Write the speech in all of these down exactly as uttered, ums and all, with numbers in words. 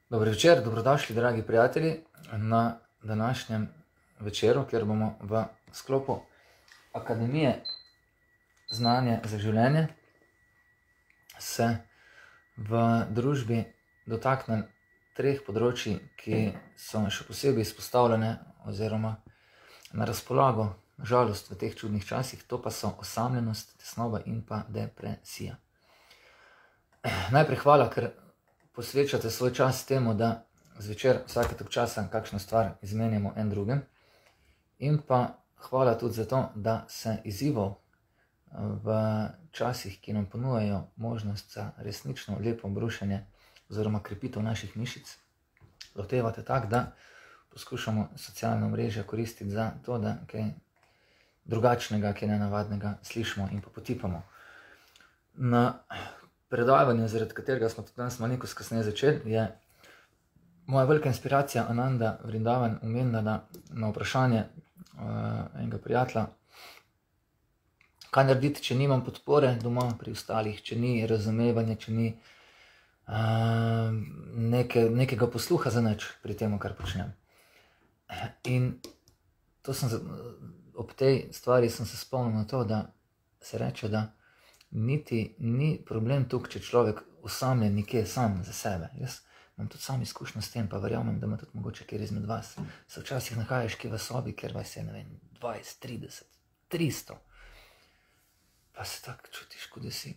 Dobro večer, dobrodošli, dragi prijatelji, na današnjem večeru, kjer bomo v sklopu Akademije znanja za življenje se v družbi dotaknili treh področji, ki so še posebej izpostavljene oziroma na razpolago, na žalost, v teh čudnih časih, to pa so osamljenost, tesnoba in pa depresija. Najprej hvala, ker posvečate svoj čas temu, da zvečer vsake tok časa kakšno stvar izmenjamo en drugem. In pa hvala tudi za to, da se izzivov v časih, ki nam ponujajo možnost za resnično lepo brušenje oziroma krepitev naših mišic, lotevate tako, da poskušamo socialno mrežje koristiti za to, da kaj drugačnega, kaj nenavadnega slišimo in pa potipamo. Na predavanje, zaradi katerega smo tudi danes malo kasneje začeli, je moja velika inspiracija Ananda Vrindavan omenila na, na vprašanje uh, enega prijatelja, kaj narediti, če nimam podpore doma pri ostalih, če ni razumevanja, če ni uh, neke, nekega posluha za nič pri tem, kar počnem. In to sem, ob tej stvari sem se spomnil na to, da se reče, da niti ni problem tukaj, če človek osamljen nekje sam za sebe. Jaz imam tudi sam izkušnjo s tem, pa verjamem, da ima tudi mogoče kjer izmed vas. Se včasih nahajaš kje v sobi, kjer vas je, ne vem, dvajset, trideset, tristo. Pa se tako čutiš, kot da si.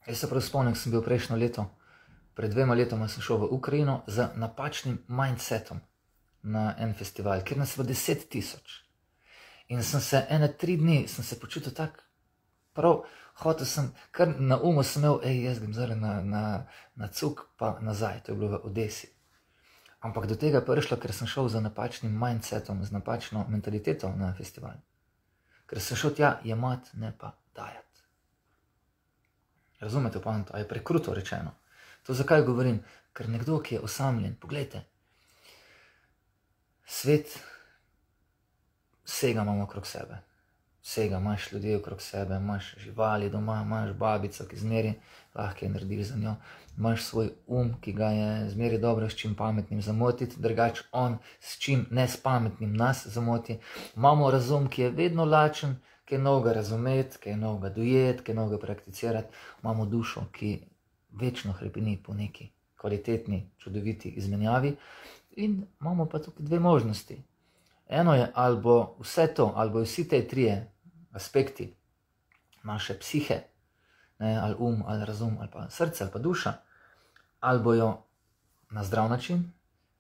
Jaz se prav spomnim, sem bil prejšnjo leto, pred dvema letoma sem šel v Ukrajino z napačnim mindsetom na en festival, kjer nas je deset tisoč. In sem se ene tri dni, sem se počutil tako prav, hotel sem, kar na umu sem imel, ej, jaz grem zdaj na, na, na cuk pa nazaj, to je bilo v Odesi. Ampak do tega je prišlo, ker sem šel z napačnim mindsetom, z napačno mentaliteto na festival. Ker sem šel tja jemat, ne pa dajati. Razumete poanto, a je prekruto rečeno. To zakaj govorim? Ker nekdo, ki je osamljen, poglejte, svet vsega imamo okrog sebe. Vsega, imaš ljudi okrog sebe, imaš živali doma, imaš babico, ki zmeri lahko je narediš za njo, imaš svoj um, ki ga je zmeri dobro s čim pametnim zamotiti, drugač on s čim ne s pametnim nas zamoti. Imamo razum, ki je vedno lačen, ki je novega razumeti, ki je novega dojeti, ki je novega prakticirati. Imamo dušo, ki večno hrepeni po neki kvalitetni, čudoviti izmenjavi. In imamo pa tukaj dve možnosti. Eno je, ali bo vse to, ali bo vsi te trije aspekti naše psihe, ne, ali um, ali razum, ali pa srce, ali pa duša, ali bojo na zdrav način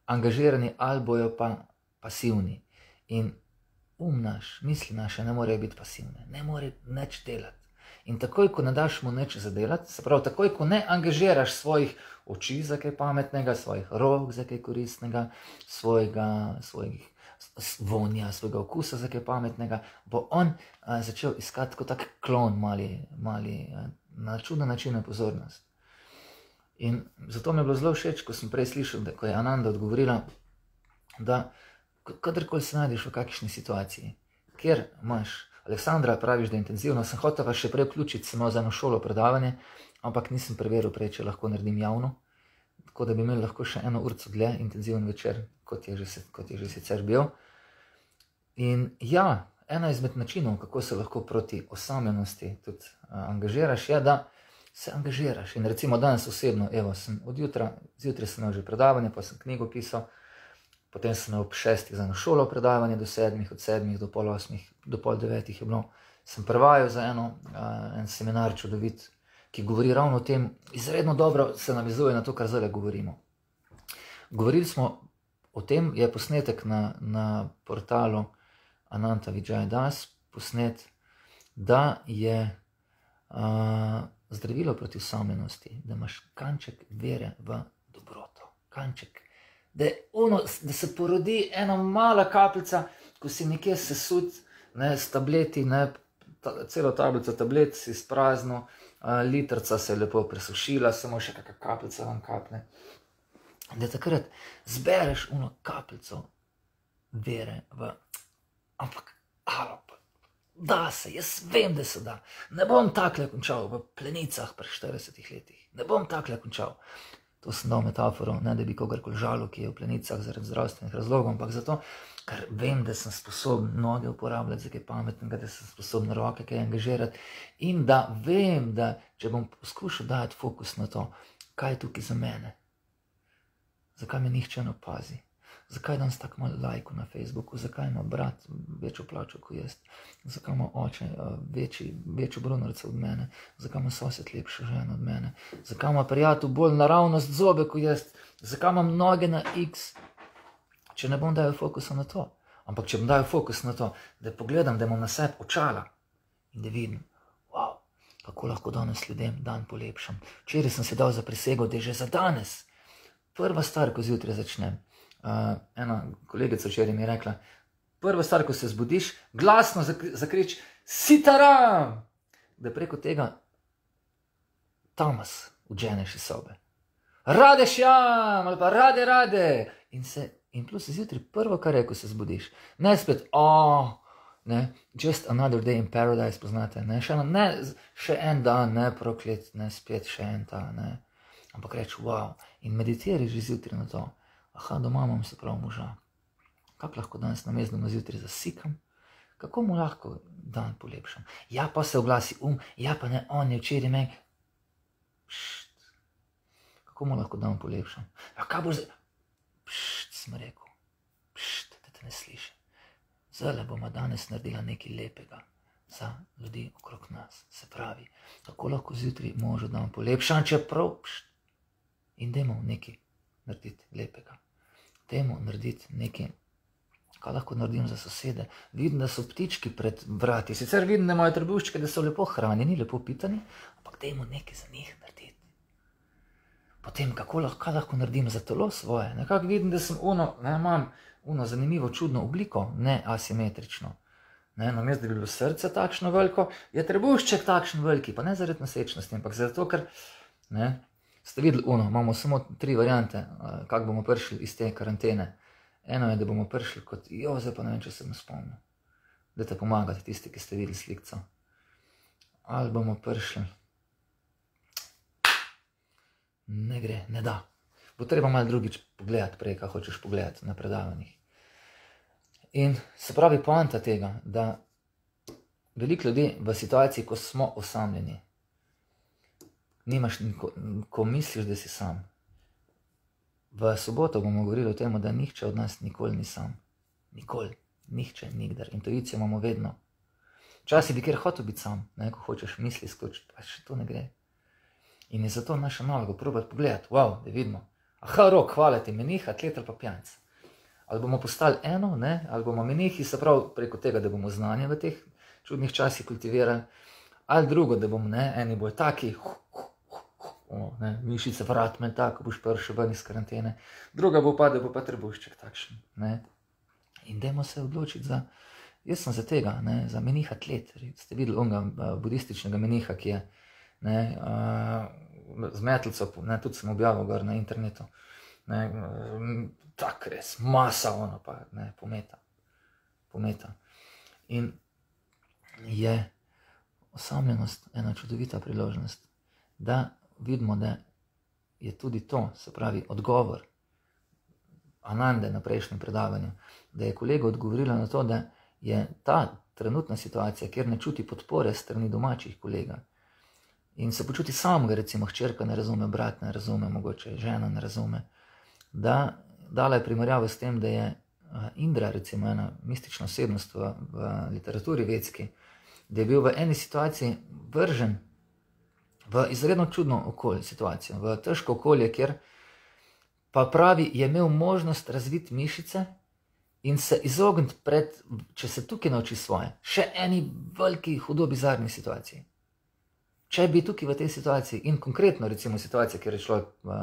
angažirani, ali bojo pa pasivni. In um naš, misli naše ne morejo biti pasivne, ne more nič delati. In takoj, ko ne daš mu nič zadelati, se pravi, takoj, ko ne angažiraš svojih oči za kaj pametnega, svojih rok za kaj koristnega, svojega, svojih vonja, svojega okusa za kaj pametnega, bo on a, začel iskati kot tak klon, mali, mali a, na čuden način pozornost. In zato mi je bilo zelo všeč, ko sem prej slišal, da ko je Ananda odgovorila, da kadarkoli se najdeš v kakšni situaciji, kjer imaš, Aleksandra, praviš, da je intenzivno, sem hotel vas še prej vključiti, sem imel za eno šolo predavanje, ampak nisem preveril prej, če lahko naredim javno, tako da bi imeli lahko še eno urco dlje, intenziven večer, kot je že, kot je že sicer bil. In ja, ena izmed načinov, kako se lahko proti osamljenosti tudi uh, angažiraš, je, da se angažiraš. In recimo danes osebno, evo, sem od jutra, zjutraj sem imel že predavanje, pa sem knjigo pisal, potem sem ob šestih za eno šolo predavanje do sedmih, od sedmih do pol osmih, do pol devetih je bilo. Sem prevajal za eno, uh, en seminar čudovit, ki govori ravno o tem, izredno dobro se navizuje na to, kar zdaj govorimo. Govorili smo o tem, je posnetek na, na portalu Ananta Vijaya Das, posnet, da je uh, zdravilo proti osamljenosti, da imaš kanček vere v dobroto, kanček. Da, ono, da se porodi ena mala kapljica, ko si nekje sesut, ne, s tableti, ne, ta, celo tablico tablet si sprazno, uh, litrca se je lepo presušila, samo še kakšna kapljica vam kapne. Da takrat zbereš ono kapljico vere v, ampak, alo, da se, jaz vem, da se da. Ne bom takle končal v plenicah pri štiridesetih letih, ne bom takle končal. To sem dal metaforo, ne da bi kogarkoli žalil, ki je v plenicah zaradi zdravstvenih razlogov, ampak zato, ker vem, da sem sposoben noge uporabljati za kaj pametnega, da sem sposoben roke kaj angažirati in da vem, da če bom poskušal dati fokus na to, kaj je tukaj za mene, zakaj me nihče ne opazi, zakaj danes tako malo lajkov na Facebooku, zakaj ima brat večjo plačo kot jaz, zakaj ima oče večji, večjo brunarico od mene, zakaj ima sosed lepšo ženo od mene, zakaj ima prijatelj bolj naravnost zobe kot jaz, zakaj imam noge na X, če ne bom dajal fokusa na to. Ampak če bom dajal fokus na to, da pogledam, da imam na sebi očala in da vidim, wow, kako lahko danes ljudem dan polepšam. Včeraj sem se dal za prisego, da je že za danes prva stvar, ko zjutraj začnem. Uh, ena kolegica včeraj mi je rekla, prva stvar, ko se zbudiš, glasno zakrič Sitaram, da preko tega tamas vženeš iz sobe. Radešjam, ali pa rade, rade. In, se, in plus zjutraj prvo, kar je, ko se zbudiš. Ne spet, oh, ne, just another day in paradise, poznate, ne, še, ne, še en dan, ne, proklet, ne, spet še en ta, ne. Ampak reči, wow, in meditiraj že zjutraj na to. Aha, doma imam se prav moža. Kako lahko danes namesto zjutraj zasikam? Kako mu lahko dan polepšam? Ja, pa se oglasi um, ja, pa ne, on je včeraj meni. Pšt. Kako mu lahko dan polepšam? Ja, kaj bo zdaj? Pšt, sem rekel. Pšt, da te ne slišim. Zdaj bomo danes naredila nekaj lepega za ljudi okrog nas. Se pravi, kako lahko zjutraj možo dan polepšam, čeprav, pšt. In dajmo nekaj narediti lepega. Dajmo narediti nekaj, kaj lahko naredim za sosede. Vidim, da so ptički pred vrati. Sicer vidim, da imajo trebuščke, da so lepo hranjeni, lepo pitani, ampak dajmo nekaj za njih narediti. Potem, kako lahko, kaj lahko naredim za telo svoje. Nekako vidim, da sem ono, ne, imam ono zanimivo, čudno obliko, ne asimetrično. Ne, namesto, da bi bilo srce takšno veliko, je trebušček takšen veliki, pa ne zaradi nosečnosti, ampak zato, ker, ne, ste videli, ono, imamo samo tri variante, kako bomo prišli iz te karantene. Eno je, da bomo prišli kot, jo, zdaj pa ne vem, če se mi spomnil. Dajte pomagati tisti, ki ste videli slikco. Ali bomo prišli. Ne gre, ne da. Bo treba malo drugič pogledati prej, kaj hočeš pogledati na predavanjih. In se pravi poanta tega, da veliko ljudi v situaciji, ko smo osamljeni, nimaš, ko misliš, da si sam. V soboto bomo govorili o tem, da nihče od nas nikoli ni sam. Nikoli, nihče, nikdar. Intuicijo imamo vedno. Včasih bi kjer hotel biti sam, ne, ko hočeš misli skočiti, pa še to ne gre. In je zato naša naloga probati pogledati, wow, da vidimo. Aha, Rok, hvala ti, menih, atlet ali pa pijanc. Ali bomo postali eno, ne, ali bomo menihi, se pravi preko tega, da bomo znanje v teh čudnih časih kultivirali, ali drugo, da bomo, ne, eni bojo taki, huh, huh, O, ne, mišice vrat me tako, boš prišel ven iz karantene. Druga bo pa, da bo pa trebušček takšen. Ne. In dajmo se odločiti za, jaz sem za tega, ne, za menih atlet. Ste videli onega budističnega meniha, ki je, ne, uh, z metlico, ne, tudi sem objavil gor na internetu. Ne, tak res, masa ono pa, ne, pometa. Pometa. In je osamljenost ena čudovita priložnost, da vidimo, da je tudi to, se pravi, odgovor Anande na prejšnjem predavanju, da je kolega odgovorila na to, da je ta trenutna situacija, kjer ne čuti podpore strani domačih kolega in se počuti samega, recimo hčerka ne razume, brat ne razume, mogoče žena ne razume, da dala je primerjavo s tem, da je Indra, recimo ena mistična osebnost v, v literaturi vedski, da je bil v eni situaciji vržen v izredno čudno okolje, situacijo, v težko okolje, kjer pa pravi, je imel možnost razviti mišice in se izogniti pred, če se tukaj nauči svoje, še eni veliki, hudo bizarni situaciji. Če bi tukaj v tej situaciji in konkretno recimo situacija, kjer je človek uh,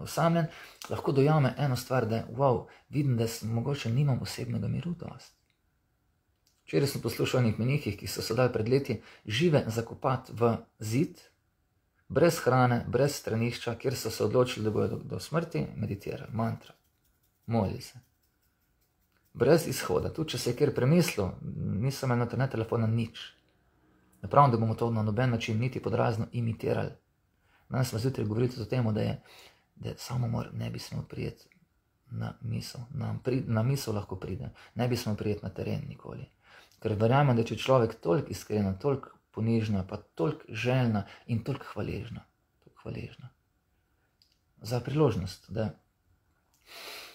osamljen, lahko dojame eno stvar, da wow, vidim, da sem, mogoče nimam osebnega miru dost. Včeraj sem poslušal o enih menihih, ki so se dali pred leti žive zakopati v zid, brez hrane, brez stranišča, kjer so se odločili, da bodo do, do smrti meditirali, mantra, molili se. Brez izhoda, tudi če se je kjer premislil, nisem imel internet telefona, nič. Ne pravim, da bomo to na noben način niti podrazno imitirali. Danes smo zjutraj govorili o tem, da je da samomor ne bi smel prijeti na misel. Na, pri, na misel lahko pride, ne bi smel prijeti na teren nikoli. Ker verjamem, da če človek toliko iskrena, toliko ponižna, pa toliko željna in toliko hvaležna, toliko hvaležna za priložnost, da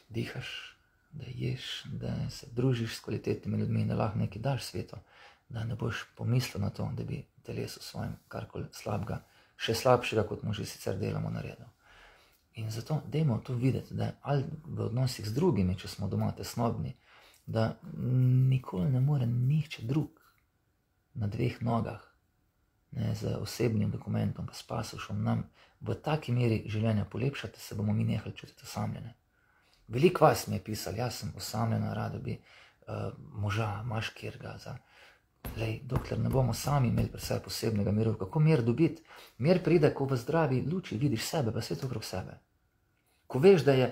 dihaš, da ješ, da se družiš s kvalitetnimi ljudmi, da lahko nekaj daš svetu, da ne boš pomislil na to, da bi telesu svojim karkoli slabega, še slabšega, kot mu že sicer delamo, naredil. In zato dajmo to videti, da ali v odnosih z drugimi, če smo doma tesnobni, da nikoli ne more nihče drug na dveh nogah, ne, z osebnim dokumentom, pa s pasošom nam v taki meri življenja polepšati, se bomo mi nehali čutiti osamljene. Veliko vas mi je pisali, jaz sem osamljena, rada bi uh, moža, imaš kjerga za... Lej, dokler ne bomo sami imeli pri sebi posebnega miru, kako mir dobiti? Mir pride, ko v zdravi luči vidiš sebe, pa svet okrog sebe. Ko veš, da je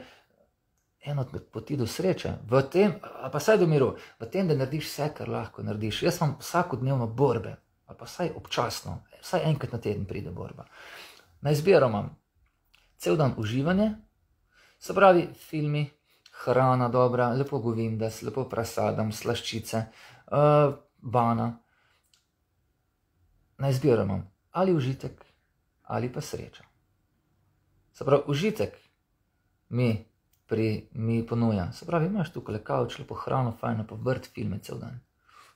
eno od poti do sreče, v tem, pa saj do miru, v tem, da narediš vse, kar lahko narediš. Jaz imam vsakodnevno borbe, ali pa saj občasno, saj enkrat na teden pride borba. Na izbiro imam cel dan uživanje, se pravi filmi, hrana dobra, lepo govindas, lepo prasadam, slaščice, uh, bana. Na izbiro imam ali užitek, ali pa sreča. Se pravi, užitek mi, pri, mi ponuja. Se pravi, imaš tukaj kavč, lepo hrano, fajno, pa vrt filme cel dan.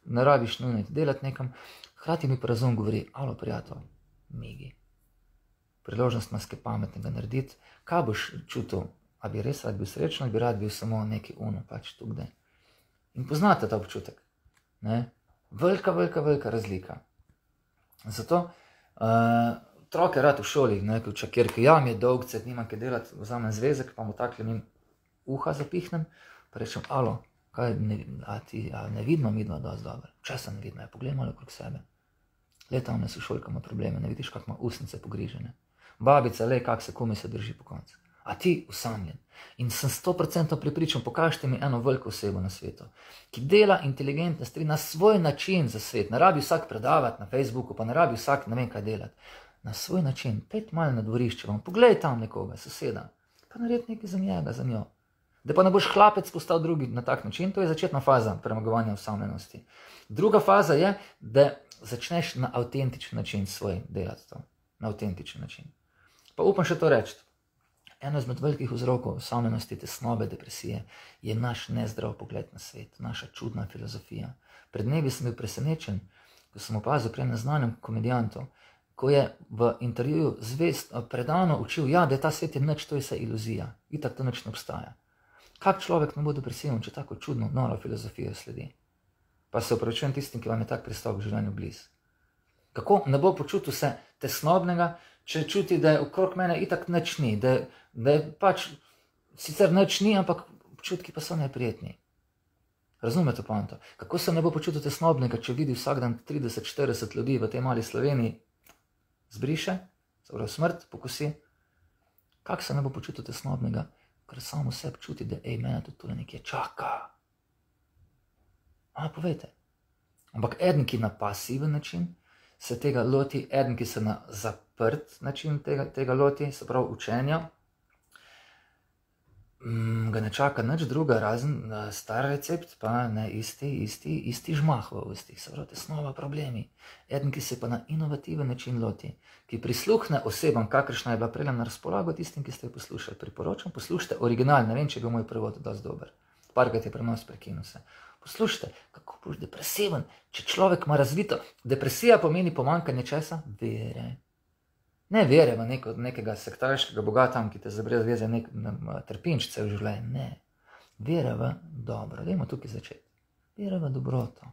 Ne rabiš nujno delati nekam, hkrati mi pa razum govori, alo prijatelj, migi. Priložnost nas kaj pametnega narediti, kaj boš čutil, a bi res rad bil srečen, ali bi rad bil samo neki uno, pač tukaj. In poznate ta občutek, ne? Velika, velika, velika razlika. Zato uh, otroke rad v šoli, ne, ko čakirke, ja, mi je dolg cet, nimam kaj delati, vzamem zvezek, pa mu takle njim uha zapihnem, pa rečem, alo, kaj, ne, a ti, a ne vidimo mi dva dosti dobro? Česa ne vidimo, ja, poglej malo okrog sebe. Le tam ne so šolka ima probleme, ne vidiš, kak ima usnice pogrižene. Babica, le, kak se kumi se drži po koncu. A ti usamljen. In sem sto procentov pripričan, pokažite mi eno veliko osebo na svetu, ki dela inteligentne stvari na svoj način za svet. Ne rabi vsak predavati na Facebooku, pa ne rabi vsak ne vem kaj delati. Na svoj način, pet malo na dvorišče vam, pogledaj tam nekoga, soseda, pa naredi nekaj za njega, za njo. Da pa ne boš hlapec postal drugi na tak način, to je začetna faza premagovanja osamljenosti. Druga faza je, da začneš na avtentičen način svoj delati to. Na avtentičen način. Pa upam še to reči. Eno izmed velikih vzrokov osamljenosti, tesnobe, depresije je naš nezdrav pogled na svet, naša čudna filozofija. Pred dnevi sem bil presenečen, ko sem opazil pri neznanem komedijantu, ko je v intervjuju zvest, predano učil, ja, da je ta svet je nič, to je vse iluzija, itak to nič ne obstaja. Kak človek ne bo depresiven, če tako čudno, noro filozofijo sledi? Pa se opravičujem tistim, ki vam je tak pristop v življenju blizu. Kako ne bo počutil se tesnobnega, če čuti, da je okrog mene itak nič ni, da, da je pač sicer nič ni, ampak občutki pa so neprijetni. Razumete poanto? Kako se ne bo počutil tesnobnega, če vidi vsak dan trideset štirideset ljudi v tej mali Sloveniji zbriše, se pravi smrt, pokosi? Kako se ne bo počutil tesnobnega, ker samo sebi čuti, da ej, mene tudi tole nekje čaka? A, povejte. Ampak eden, ki na pasiven način se tega loti, eden, ki se na zaprt način tega, tega loti, se pravi učenja, mm, ga ne čaka nič druga, razen star recept, pa ne isti, isti, isti žmah v ustih, se pravi tesnova problemi. Eden, ki se pa na inovativen način loti, ki prisluhne osebam, kakršna je bila prej na razpolago tistim, ki ste jo poslušali. Priporočam, poslušajte original, ne vem, če je bil moj prevod dosti dober. Parkrat je prenos prekinil se. Poslušajte, kako boš depresiven, če človek ima razvito. Depresija pomeni pomanjkanje česa? Vere. Ne vere v neko, nekega sektarskega boga tam, ki te zabrez veze nek trpinčice v življenju. Ne. Vere v dobro. Dajmo tukaj začeti. Vere v dobroto.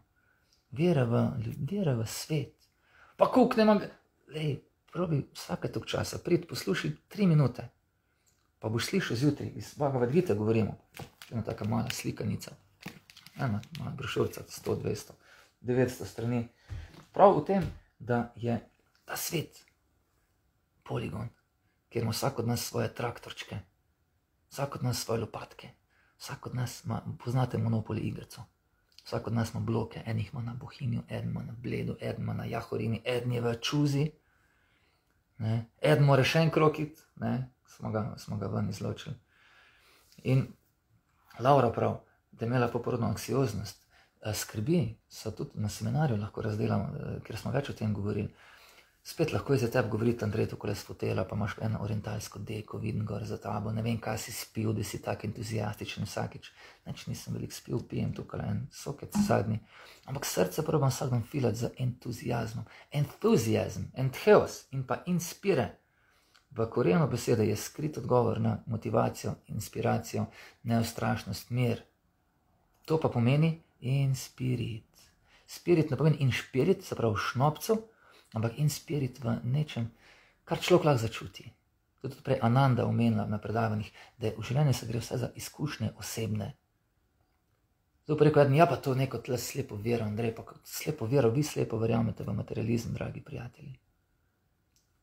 Vere v, vere v svet. Pa kuk ne imam... Lej, probi vsake tok časa, prid, poslušaj tri minute. Pa boš slišal zjutraj, iz Bhagavad Gite govorimo. Ena taka mala slikanica. Ena mala brošurca, sto, dvesto, devetsto strani. Prav v tem, da je ta svet poligon, kjer ima vsak od nas svoje traktorčke, vsak od nas svoje lopatke, vsak od nas ima, poznate Monopoly igrico, vsak od nas ima bloke, en jih ima na Bohinju, en ima na Bledu, en ima na Jahorini, en je v Čuzi, ne? En mora še en krokit, ne? smo ga, smo ga ven izločili. In Laura prav, da je imela poporodno anksioznost, skrbi so tudi na seminarju lahko razdelamo, ker smo več o tem govorili. Spet lahko je za tebe govoriti, Andrej, tukaj s fotela, pa imaš eno orientalsko deko, vidim gor za tabo, ne vem, kaj si spil, da si tak entuzijastičen vsakič. Neč nisem veliko spil, pijem tukaj en sokec zadnji. Ampak srce probam vsak dan filati z entuzijazmom. Entuzijazm, entheos in pa inspire. V korenu besede je skrit odgovor na motivacijo, inspiracijo, neustrašnost, mir. To pa pomeni inspirit. Spirit ne pomeni inšpirit, se pravi šnopcev, ampak inspirit v nečem, kar človek lahko začuti. To je tudi prej Ananda omenila na predavanjih, da v življenju se gre vse za izkušnje osebne. Zdaj pa rekel eden, ja pa to neko tle slepo vero, Andrej, pa slepo vero, vi slepo verjamete v materializem, dragi prijatelji.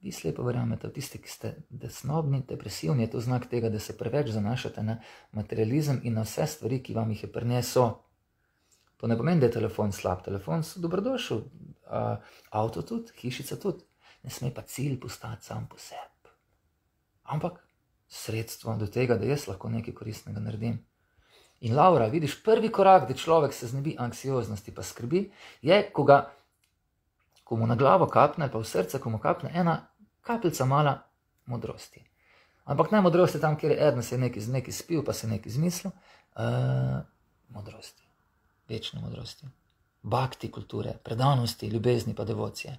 Vi slepo verjamete v tiste, ki ste desnobni, depresivni, je to znak tega, da se preveč zanašate na materializem in na vse stvari, ki vam jih je prinesel. To ne pomeni, da je telefon slab, telefon so dobrodošel, uh, avto tudi, hišica tudi, ne sme pa cilj postati sam po sebi. Ampak sredstvo do tega, da jaz lahko nekaj koristnega naredim. In Laura, vidiš, prvi korak, da človek se znebi anksioznosti pa skrbi, je, ko ga, ko mu na glavo kapne, pa v srce, ko mu kapne ena kapljica mala modrosti. Ampak ne modrosti tam, kjer je eden se je nekaj, nekaj spil, pa se je nekaj izmislil, uh, modrosti. Večne modrosti, bhakti kulture, predanosti, ljubezni pa devocije.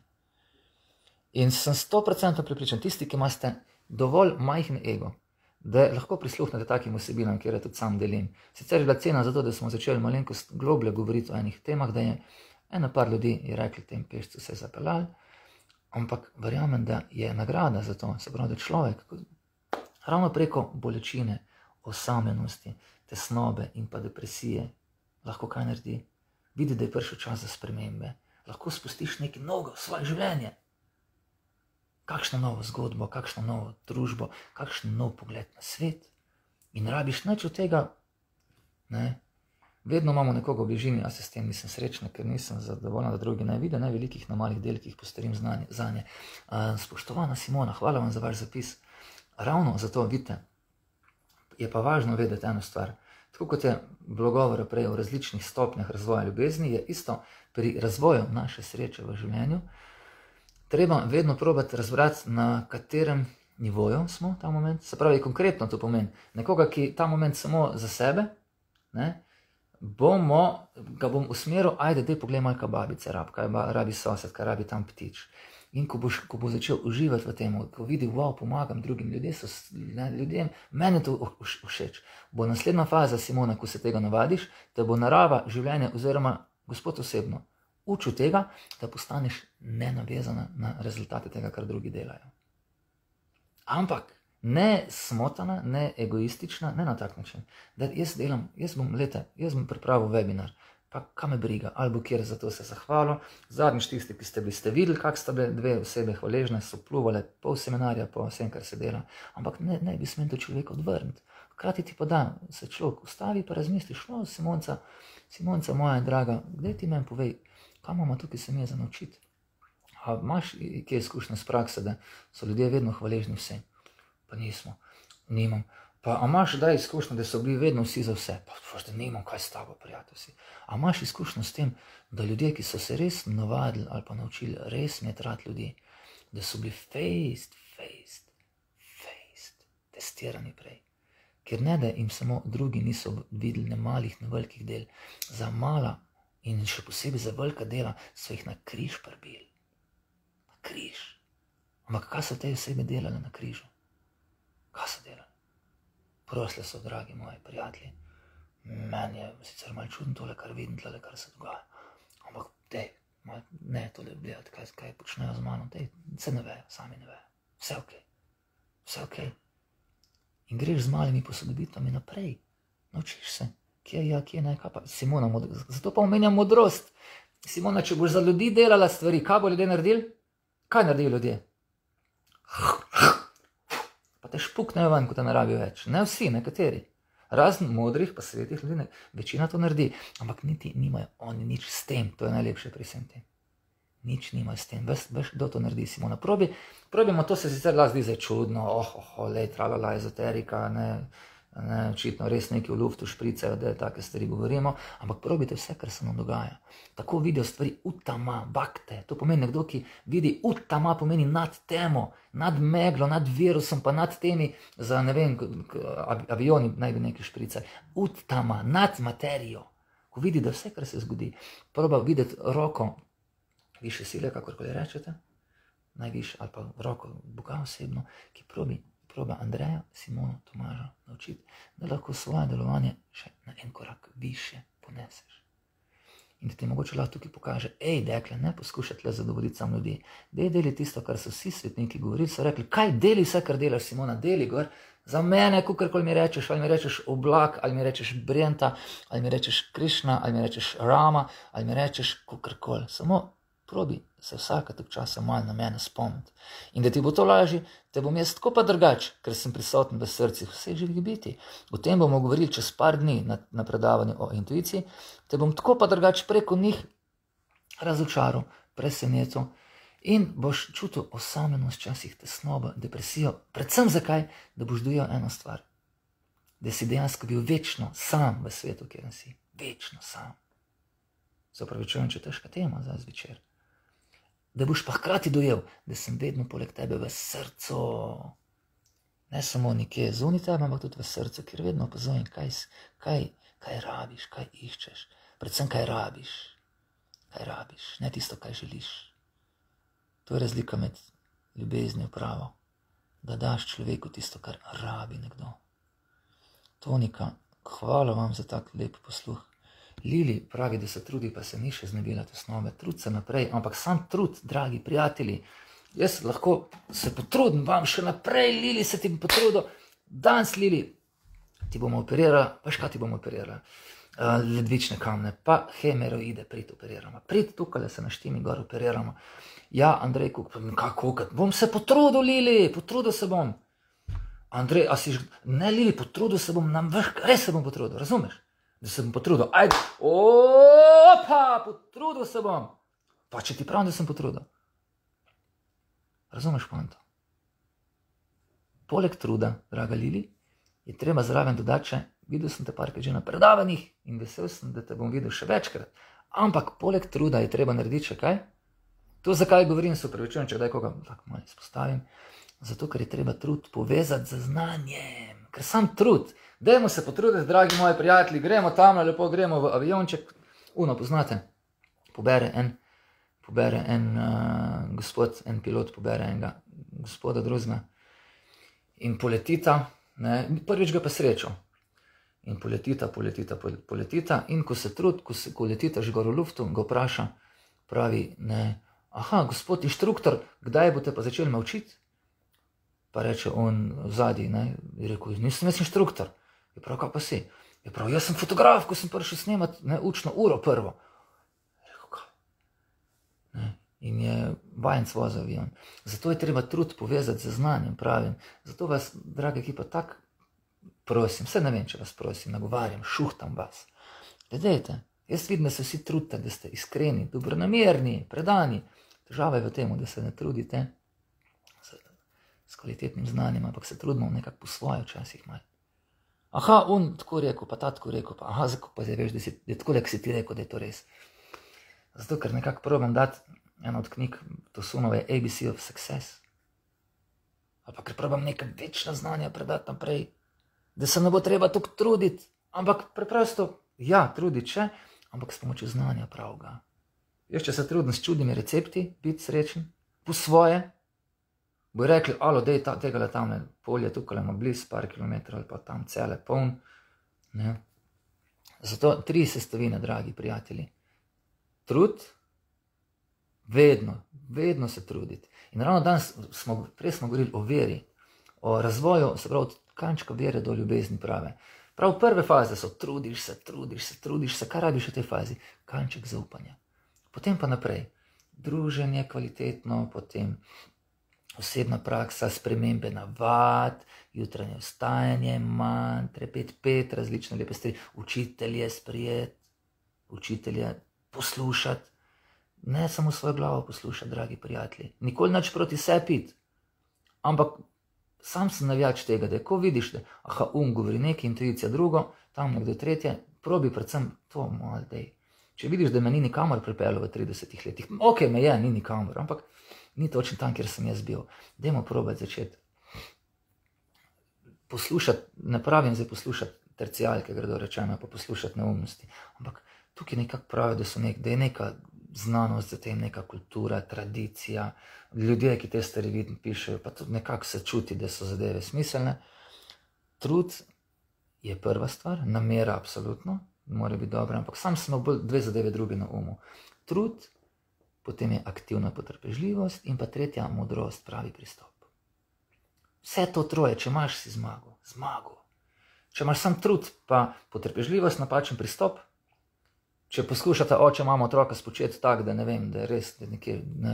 In sem sto procentov pripričan, tisti, ki imate dovolj majhen ego, da lahko prisluhnete takim osebinam, kjer je tudi sam delim. Sicer je bila cena za to, da smo začeli malenkost globlje govoriti o enih temah, da je eno par ljudi je rekli, tem pešcu se je zapeljali, ampak verjamem, da je nagrada za to, se pravi, da človek ravno preko bolečine, osamljenosti, tesnobe in pa depresije lahko kaj naredi, vidi, da je prišel čas za spremembe, lahko spustiš nekaj novega v svoje življenje. Kakšno novo zgodbo, kakšno novo družbo, kakšen nov pogled na svet. In rabiš nič od tega, ne. Vedno imamo nekoga v bližini, a se s tem nisem srečna, ker nisem zadovoljna, da drugi ne vide, ne velikih na malih delkih postarim zanje. Spoštovana Simona, hvala vam za vaš zapis. Ravno zato, vidite, je pa važno vedeti eno stvar. Tako kot je bilo govora prej o različnih stopnjah razvoja ljubezni, je isto pri razvoju naše sreče v življenju. Treba vedno probati razbrati, na katerem nivoju smo ta moment. Se pravi, konkretno to pomeni. Nekoga, ki ta moment samo za sebe, ne, bomo, ga bom usmeril, ajde, dej poglej malo, kaj babice rabi, kaj rabi sosed, kaj rabi tam ptič. In ko, boš, ko bo začel uživati v tem, ko vidi, wow, pomagam drugim ljudem, so, ne, ljudem, meni to všeč. Bo naslednja faza, Simona, ko se tega navadiš, da bo narava življenja oziroma gospod osebno učil tega, da postaneš nenavezana na rezultate tega, kar drugi delajo. Ampak ne smotana, ne egoistična, ne na tak način. Da jaz delam, jaz bom, lete, jaz bom pripravil webinar, pa kaj me briga, ali bo kjer za to se zahvalil. Zadnjič tisti, ki ste bili, ste videli, kak sta bile dve osebe hvaležne, so pluvale pol seminarja, po vsem, kar se dela. Ampak ne, ne bi smel to človek odvrniti. Hkrati ti pa da, se človek ustavi, pa razmisliš, no, Simonca, Simonca moja draga, kdaj ti meni povej, kaj imamo tukaj se mi je za naučiti? A imaš kje izkušnje z prakse, da so ljudje vedno hvaležni vsem? Pa nismo, nimam. Pa a imaš da izkušnjo, da so bili vedno vsi za vse? Pa da nimam, kaj s tabo, prijatelj si. A imaš izkušnjo s tem, da ljudje, ki so se res navadili ali pa naučili res imeti rad ljudi, da so bili faced, faced, faced, testirani prej. Ker ne, da jim samo drugi niso videli ne malih, ne velikih del. Za mala in še posebej za velika dela so jih na križ prbili. Na križ. Ampak kaj so te osebe delali na križu? Kaj so delali? Prosle so, dragi moji prijatelji. Meni je sicer malo čudno tole, kar vidim, tole, kar se dogaja. Ampak, dej, ne tole gledati, kaj, kaj počnejo z mano. Dej, se ne vejo, sami ne vejo. Vse ok. Vse ok. In greš z malimi posodobitvami naprej. Naučiš se, kje ja, kje ne, kaj pa. Simona, zato pa omenjam modrost. Simona, če boš za ljudi delala stvari, kaj bo ljudje naredili? Kaj naredijo ljudje? Pa te špuknejo ven, ko te ne rabijo več. Ne vsi, nekateri. Razen modrih, pa svetih ljudi, večina to naredi. Ampak niti nimajo oni nič s tem, to je najlepše pri vsem tem. Nič nima s tem. Veš, veš, kdo to naredi, Simona? Probi, probimo, to se sicer lahko zdi zdaj čudno, oh, oh, oh, lej, tralala, ezoterika, ne, ne, očitno res neki v luftu špricajo, da take stvari govorimo, ampak probite vse, kar se nam dogaja. Tako vidijo stvari utama, bakte. To pomeni nekdo, ki vidi utama, pomeni nad temo, nad meglo, nad virusom, pa nad temi, za ne vem, avioni naj bi neki špricali. Utama, nad materijo. Ko vidi, da vse, kar se zgodi, proba videti roko više sile, kakorkoli rečete, najviše, ali pa roko Boga osebno, ki probi, proba Andreja, Simono, Tomaža naučiti, da lahko svoje delovanje še na en korak više poneseš. In da ti mogoče lahko tukaj pokaže, ej, dekle, ne poskušati le zadovoljiti sam ljudi, dej deli tisto, kar so vsi svetniki govorili, so rekli, kaj deli vse, kar delaš, Simona, deli gor, za mene, kakorkoli mi rečeš, ali mi rečeš oblak, ali mi rečeš Brenta, ali mi rečeš Krišna, ali mi rečeš Rama, ali mi rečeš kakorkoli, samo probi se vsaka tok časa malo na mene spomniti. In da ti bo to lažje, te bom jaz tako pa drugač, ker sem prisoten v srcih vseh živih biti. O tem bomo govorili čez par dni na, na predavanju o intuiciji, te bom tako pa drugač preko njih razočaral, presenetil in boš čutil osamljenost, včasih tesnobo, depresijo, predvsem zakaj, da boš dojel eno stvar, da si dejansko bil večno sam v svetu, kjer si, večno sam. Se opravičujem, če težka tema za zvečer. Da boš pa hkrati dojel, da sem vedno poleg tebe v srcu. Ne samo nekje zunaj tebe, ampak tudi v srcu, kjer vedno opazujem, kaj, kaj, kaj rabiš, kaj iščeš. Predvsem, kaj rabiš. Kaj rabiš, ne tisto, kaj želiš. To je razlika med ljubeznijo pravo. Da daš človeku tisto, kar rabi nekdo. Tonika, hvala vam za tak lep posluh. Lili pravi, da se trudi, pa se ni še znebila tesnobe. Trud se naprej, ampak sam trud, dragi prijatelji. Jaz lahko se potrudim vam še naprej, Lili, se ti potrudil. Danes, Lili, ti bomo operirali, veš kaj ti bomo operirali? Uh, ledvične kamne, pa hemeroide prid operiramo. Prid tukaj, da se na štimi gor operiramo. Ja, Andrej, kako, bom se potrudil, Lili, potrudil se bom. Andrej, a si, ne, Lili, potrudil se bom, nam veš, res se bom potrudil, razumeš? Da se bom potrudil, ajde, opa, potrudil se bom. Pa če ti pravim, da sem potrudil. Razumeš pointo? Poleg truda, draga Lili, je treba zraven dodati še, videl sem te parkrat že na predavanjih in vesel sem, da te bom videl še večkrat. Ampak poleg truda je treba narediti še kaj? To, zakaj govorim, se upravičujem, če kdaj koga tako malo izpostavim. Zato, ker je treba trud povezati z znanjem. Ker sam trud, dajmo se potruditi, dragi moji prijatelji, gremo tam, lepo gremo v avionček. Uno, poznate, pobere en, pobere en uh, gospod, en pilot pobere enega gospoda drugega in poletita, ne, prvič ga pa srečal. In poletita, poletita, poletita in ko se trud, ko, se, ko letita že gor v luftu, ga vpraša, pravi, ne, aha, gospod inštruktor, kdaj boste pa začeli me učiti? Pa reče on v zadnji, ne, je rekel, nisem jaz inštruktor. Je prav, kaj pa si? Je prav, jaz sem fotograf, ko sem prišel snemati, ne, učno uro prvo. Je rekel, kaj? Ne, in je vajenc vozil avion. Zato je treba trud povezati z znanjem, pravim. Zato vas, draga ekipa, tak prosim, vse ne vem, če vas prosim, nagovarjam, šuhtam vas. Gledajte, jaz vidim, da se vsi trudite, da ste iskreni, dobronamerni, predani. Težava je v tem, da se ne trudite s kvalitetnim znanjem, ampak se trudimo nekako po svoje včasih malo. Aha, on tako rekel, pa ta tako rekel, pa aha, zakaj pa zdaj veš, da, si, da je tako, da si ti rekel, da je to res. Zato, ker nekako probam dati eno od knjig Tosunove A B C of Success. Ali pa ker probam neka večna znanja predati naprej, da se ne bo treba tako truditi, ampak preprosto, ja, truditi še, ampak s pomočjo znanja pravega. Jaz, če se trudim s čudnimi recepti, biti srečen, po svoje, bo rekli, alo, dej ta, tega le tamle polje, tukaj ima bliz par kilometrov ali pa tam cele poln. Ne? Zato tri sestavine, dragi prijatelji. Trud, vedno, vedno se truditi. In ravno danes smo, prej smo govorili o veri, o razvoju, se pravi, od kančka vere do ljubezni prave. Prav prve faze so trudiš se, trudiš se, trudiš se, kaj rabiš v tej fazi? Kanček zaupanja. Potem pa naprej, druženje kvalitetno, potem osebna praksa, spremembe navad, jutranje vstajanje, mantre, pet, pet, različne lepe stvari, učitelje sprijeti, učitelje poslušati, Ne samo svojo glavo poslušati, dragi prijatelji. Nikoli nič proti sebi pit. Ampak sam sem navijač tega, da ko vidiš, da aha, um govori nekaj, intuicija drugo, tam nekdo tretje, probi predvsem to malo dej. Če vidiš, da me ni nikamor pripeljal v tridesetih letih, ok, me je, ni nikamor, ampak ni točno tam, kjer sem jaz bil. Dajmo probati začeti poslušati, ne pravim zdaj poslušati tercijalke, gredo rečeno, pa poslušati neumnosti, ampak tukaj nekako pravijo, da, so nek, da je neka znanost za tem, neka kultura, tradicija, ljudje, ki te stvari vidno pišejo, pa tudi nekako se čuti, da so zadeve smiselne. Trud je prva stvar, namera absolutno, mora biti dobra, ampak sam sem imel dve zadeve druge na umu. Trud, potem je aktivna potrpežljivost in pa tretja modrost, pravi pristop. Vse to troje, če imaš, si zmagal, zmagal. Če imaš sam trud, pa potrpežljivost, napačen pristop, če poskušate oče, mama, otroka spočeti tak, da ne vem, da je res, da nekje ne,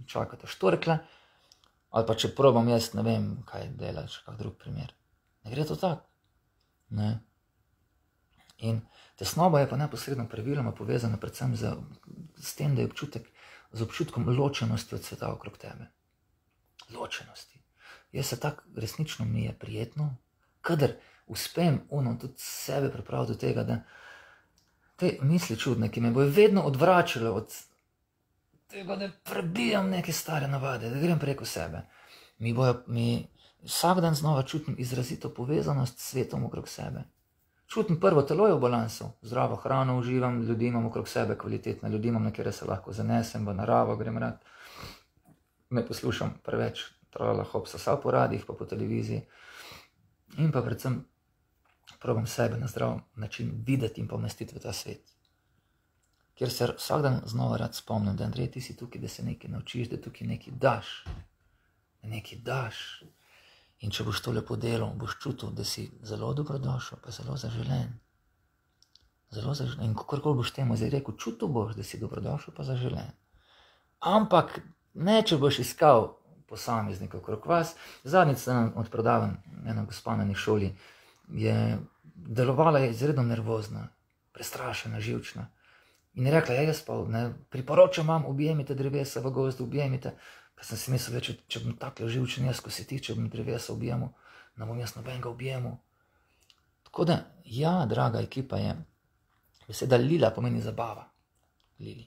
čakate štorkle, ali pa če probam jaz, ne vem, kaj delaš, kak drug primer. Ne gre to tak. Ne. In tesnoba je pa neposredno praviloma povezana predvsem z, z tem, da je občutek, z občutkom ločenosti od sveta okrog tebe. Ločenosti. Jaz se tak resnično mi je prijetno, kadar uspem ono tudi sebe pripraviti do tega, da te misli čudne, ki me bojo vedno odvračale od tega, da prebijam neke stare navade, da grem preko sebe. Mi bojo, mi vsak dan znova čutim izrazito povezanost s svetom okrog sebe. Čutim prvo, telo je v balansu, zdravo hrano uživam, ljudi imam okrog sebe, kvalitetne ljudi imam, na kjer se lahko zanesem, v naravo grem rad. Ne poslušam preveč trala hopsa sa po radijih, pa po televiziji. In pa predvsem probam sebe na zdrav način videti in pomestiti v ta svet. Kjer se vsak dan znova rad spomnim, da Andrej, ti si tukaj, da se nekaj naučiš, da tukaj nekaj daš. Da nekaj daš. In če boš to lepo delal, boš čutil, da si zelo dobrodošel, pa zelo zaželen. Zelo zaželen. In kakorkoli boš temu zdaj rekel, čutil boš, da si dobrodošel, pa zaželen. Ampak ne, če boš iskal posameznika okrog vas. Zadnjič sem odpredavan ena gospa na eni šoli, je delovala je izredno nervozna, prestrašena, živčna. In je rekla, ja, jaz pa ne, priporočam vam, objemite drevesa v gozdu, objemite. Pa sem si mislil, če, če bom takle živčen jaz, ko si ti, če bom drevesa objemil, ne bom jaz nobenega objemil. Tako da, ja, draga ekipa je, beseda lila pomeni zabava. Lili.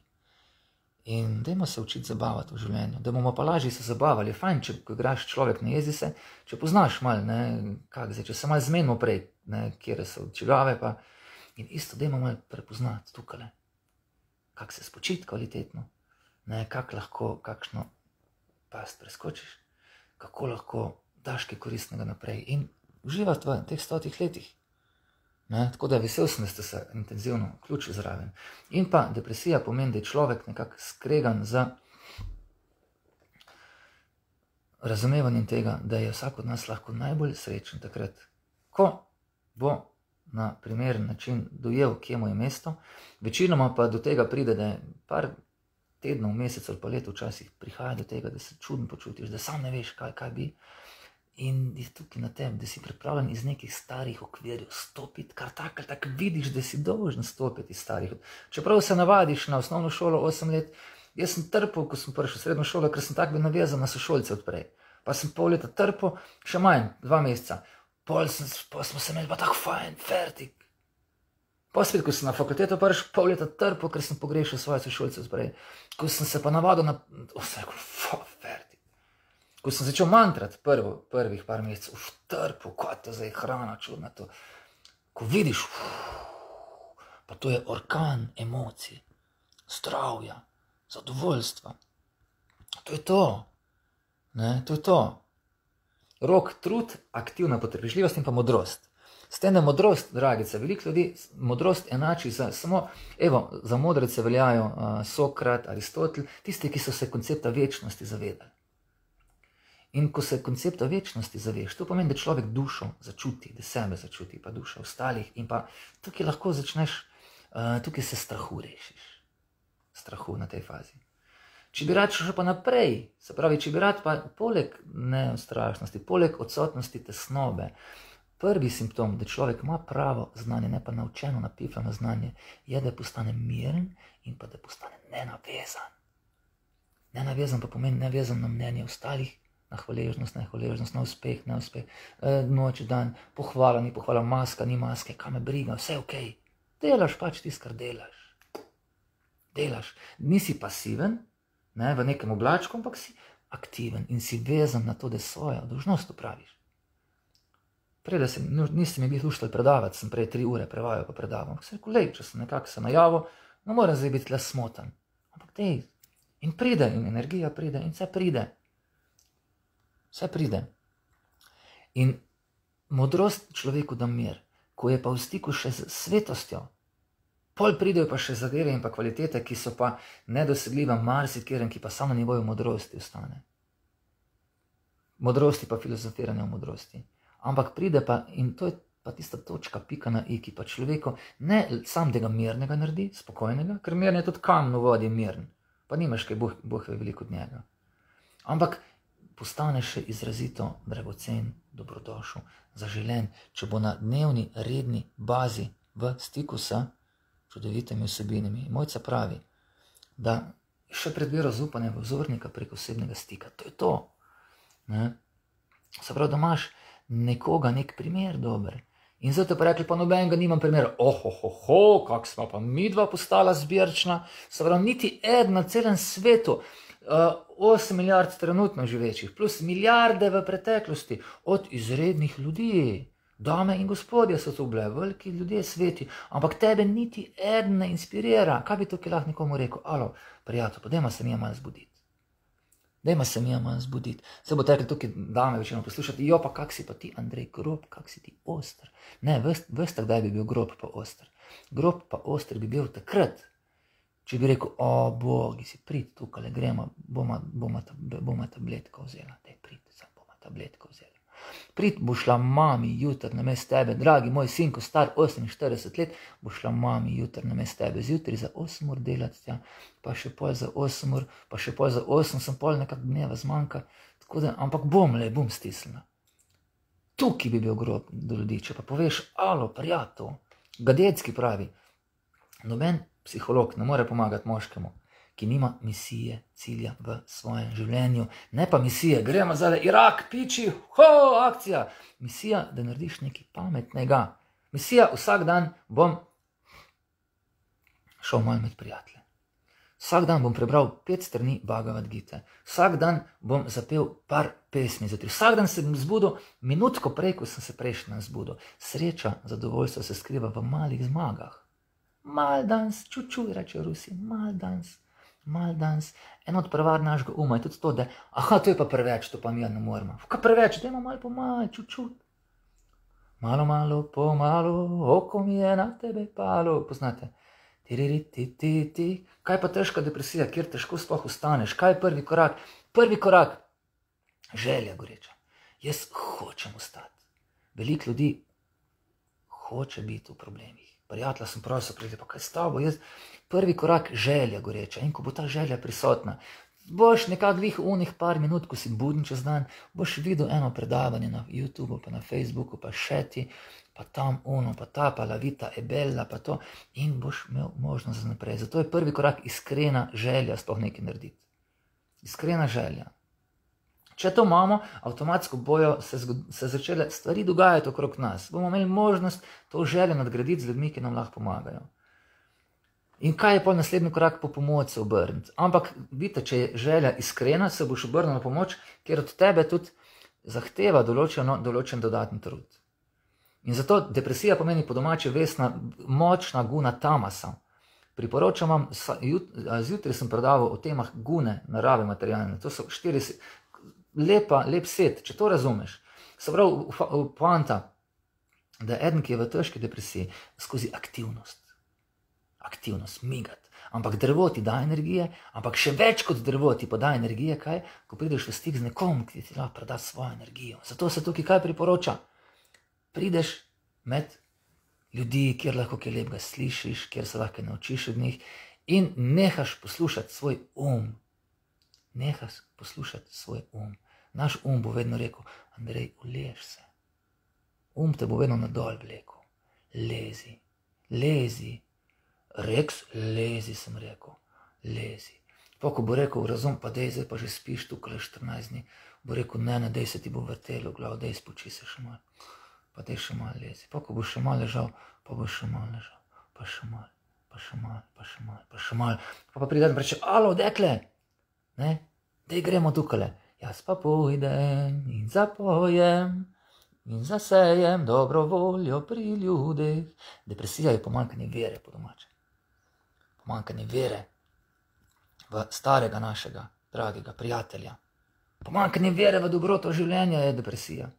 In dajmo se učiti zabavati v življenju, da bomo pa lažje se zabavali. Je fajn, če ko igraš človek, ne jezi se, če poznaš malo, ne, kak zdaj, če se malo zmenimo prej, ne, kjere so čigave, pa in isto dajmo malo prepoznati tukale, kak se spočiti kvalitetno, ne, kak lahko, kakšno past preskočiš, kako lahko daš kaj koristnega naprej in uživati v teh stotih letih. Ne, tako da vesel sem, da ste se intenzivno vključili zraven. In pa depresija pomeni, da je človek nekako skregan za razumevanjem tega, da je vsak od nas lahko najbolj srečen takrat, ko bo na primeren način dojel, kje mu je mesto, večinoma pa do tega pride, da je par tednov, mesec ali pa let včasih prihaja do tega, da se čudno počutiš, da sam ne veš, kaj, kaj bi. In je tukaj na tem, da si pripravljen iz nekih starih okvirjev stopiti, kar tako ali tako vidiš, da si dolžen stopiti iz starih. Čeprav se navadiš na osnovno šolo osem let, jaz sem trpel, ko sem prišel v srednjo šolo, ker sem tako bil navezan na sošolce odprej. Pa sem pol leta trpel, še manj, dva meseca. Pol, sem, pol smo se imeli pa tako fajn, fertik. Pa spet, ko sem na fakulteto prišel, pol leta trpel, ker sem pogrešal svoje sošolce odprej. Ko sem se pa navadil na... Vse rekel, fa, fertik. Ko sem začel mantrati prvo, prvih par mesecev, v trpu, kot to zdaj hrana čudna to. Ko vidiš, uf, pa to je orkan emocij, zdravja, zadovoljstva. To je to. Ne, to je to. Rok, trud, aktivna potrpežljivost in pa modrost. S tem, da modrost, dragice, veliko ljudi modrost enači za samo, evo, za modrece veljajo uh, Sokrat, Aristotel, tisti, ki so se koncepta večnosti zavedali. In ko se koncepta večnosti zaveš, to pomeni, da človek dušo začuti, da sebe začuti, pa dušo ostalih in pa tukaj lahko začneš, uh, tukaj se strahu rešiš. Strahu na tej fazi. Če bi rad šel pa naprej, se pravi, če bi rad pa poleg neustrašnosti, poleg odsotnosti tesnobe, Prvi simptom, da človek ima pravo znanje, ne pa naučeno, napifljeno znanje, je, da postane miren in pa da postane nenavezan. Nenavezan pa pomeni nevezan na mnenje ostalih, na hvaležnost, nehvaležnost, na uspeh, neuspeh, noč, dan, pohvala, ni pohvala, maska, ni maske, kaj me briga, vse ok. Delaš pač tisto, kar delaš. Delaš. Nisi pasiven, ne, v nekem oblačku, ampak si aktiven in si vezan na to, da svojo dolžnost upraviš. Prej, da se, niste mi bili luštali predavati, sem prej tri ure prevajal pa predavam. Se rekel, lej, če sem nekako se najavil, ne morem zdaj biti le smotan. Ampak dej, in pride, in energija pride, in vse pride. Vse pride. In modrost človeku da mir, ko je pa v stiku še z svetostjo, pol pridejo pa še zadeve in pa kvalitete, ki so pa nedosegljive marsikeren, ki pa samo na nivoju modrosti ostane. Modrosti pa filozofiranje o modrosti. Ampak pride pa, in to je pa tista točka, pika na i, ki pa človeku ne sam tega mirnega naredi, spokojnega, ker mirn je tudi kamen v vodi mirn, pa nimaš kaj Bog, Bog je veliko od njega. Ampak postane še izrazito dragocen, dobrodošel, zaželen, če bo na dnevni, redni bazi v stiku s čudovitimi vsebinami. Mojca pravi, da še predbira zaupanje v vzornika preko osebnega stika. To je to. Ne? Se pravi, da imaš nekoga, nek primer dober. In zato pa rekli, pa nobenega nimam primera. Ohohoho, kak smo pa midva postala zbirčna. Se pravi, niti eden na celem svetu, osem milijard trenutno živečih, plus milijarde v preteklosti, od izrednih ljudi. Dame in gospodje so to bile, veliki ljudje sveti, ampak tebe niti eden ne inspirira. Kaj bi tukaj lahko nekomu rekel? Alo, prijatelj, pa dajmo se mi malo zbuditi. Dajmo se mi malo zbuditi. Se bo tekli tukaj dame večino poslušati, jo pa kak si pa ti, Andrej, grob, kak si ti oster. Ne, veste, kdaj bi bil grob pa oster. Grob pa oster bi bil takrat, če bi rekel, o bogi si, prid tukaj, gremo, bomo, bomo, bomo tabletko vzela, daj prid, sam bomo tabletko vzela. Prid, bo šla mami jutr na mest tebe, dragi moj sinko, star oseminštirideset let, bo šla mami jutr na mest tebe, zjutri za osem ur delati tja, pa še pol za osem ur, pa še pol za osem, sem pol nekak dneva zmanjka, tako da, ampak bom le, bom stisnila. Tukaj bi bil grob do ljudi, če pa poveš, alo, prijatelj, Gadecki pravi, noben psiholog ne more pomagati moškemu, ki nima misije, cilja v svojem življenju. Ne pa misije, gremo zdaj, Irak, piči, ho, akcija. Misija, da narediš nekaj pametnega. Misija, vsak dan bom šel malo med prijatelje. Vsak dan bom prebral pet strani Bhagavad Gite. Vsak dan bom zapel par pesmi. Zatri. Vsak dan se bom zbudil, minutko prej, ko sem se prejšnji dan zbudil. Sreča, zadovoljstvo se skriva v malih zmagah. Mal dans, čučuj, reče Rusi, mal dans. Mal dans, eno od prevar našega uma je tudi to, da, aha, to je pa preveč, to pa mi ne moremo. Kaj preveč, dajmo malo po malo, čut-čut. Malo, malo, po malo, oko mi je na tebe palo, poznate. Tiririti, kaj pa težka depresija, kjer težko sploh ustaneš, kaj je prvi korak? Prvi korak, želja goreča. Jaz hočem ostati. Veliko ljudi hoče biti v problemih. Prijatelja sem prosil, pride, pa kaj s tabo, jaz, prvi korak, želja goreča, in ko bo ta želja prisotna, boš nekak vih unih par minut, ko si buden čez dan, boš videl eno predavanje na YouTubeu, pa na Facebooku, pa še ti, pa tam uno, pa ta, pa la vita e bella, pa to, in boš imel možnost za naprej. Zato je prvi korak iskrena želja sploh nekaj narediti. Iskrena želja. Če to imamo, avtomatsko bojo se, se začele stvari dogajati okrog nas. Bomo imeli možnost to željo nadgraditi z ljudmi, ki nam lahko pomagajo. In kaj je pol naslednji korak? Po pomoč se obrniti. Ampak vidite, če je želja iskrena, se boš obrnil na pomoč, ker od tebe tudi zahteva določeno, določen dodatni trud. In zato depresija pomeni po domače vesna, močna guna tamasa. Priporočam vam, zjutraj sem predaval o temah gune, narave materialne. To so štiri lepa, lep set, če to razumeš. Se pravi, poanta, da je eden, ki je v težki depresiji, skozi aktivnost. Aktivnost, migat. Ampak drevo ti da energije, ampak še več kot drevo ti pa da energije, kaj? Ko prideš v stik z nekom, ki ti lahko preda svojo energijo. Zato se tukaj kaj priporoča? Prideš med ljudi, kjer lahko kaj lepega slišiš, kjer se lahko naučiš od njih in nehaš poslušati svoj um. Nehaš poslušati svoj um. Naš um bo vedno rekel, Andrej, uliješ se. Um te bo vedno nadol vlekel. Lezi, lezi. Reks, lezi, sem rekel. Lezi. Pa ko bo rekel, razum, pa dej, zdaj pa že spiš tukaj štirinajst dni. Bo rekel, ne, ne, dej se ti bo vrtelo v glav, dej spoči se še malo. Pa dej še malo lezi. Pa ko bo še malo ležal, pa bo še malo ležal. Pa še malo, pa še malo, pa še malo, pa še malo. Pa pa pride in reče, alo, dekle, ne, dej gremo tukaj. Jaz pa pojdem in zapojem in zasejem dobro voljo pri ljudeh. Depresija je pomanjkanje vere, po domače. Pomanjkanje vere v starega našega, dragega prijatelja. Pomanjkanje vere v dobroto življenja je depresija.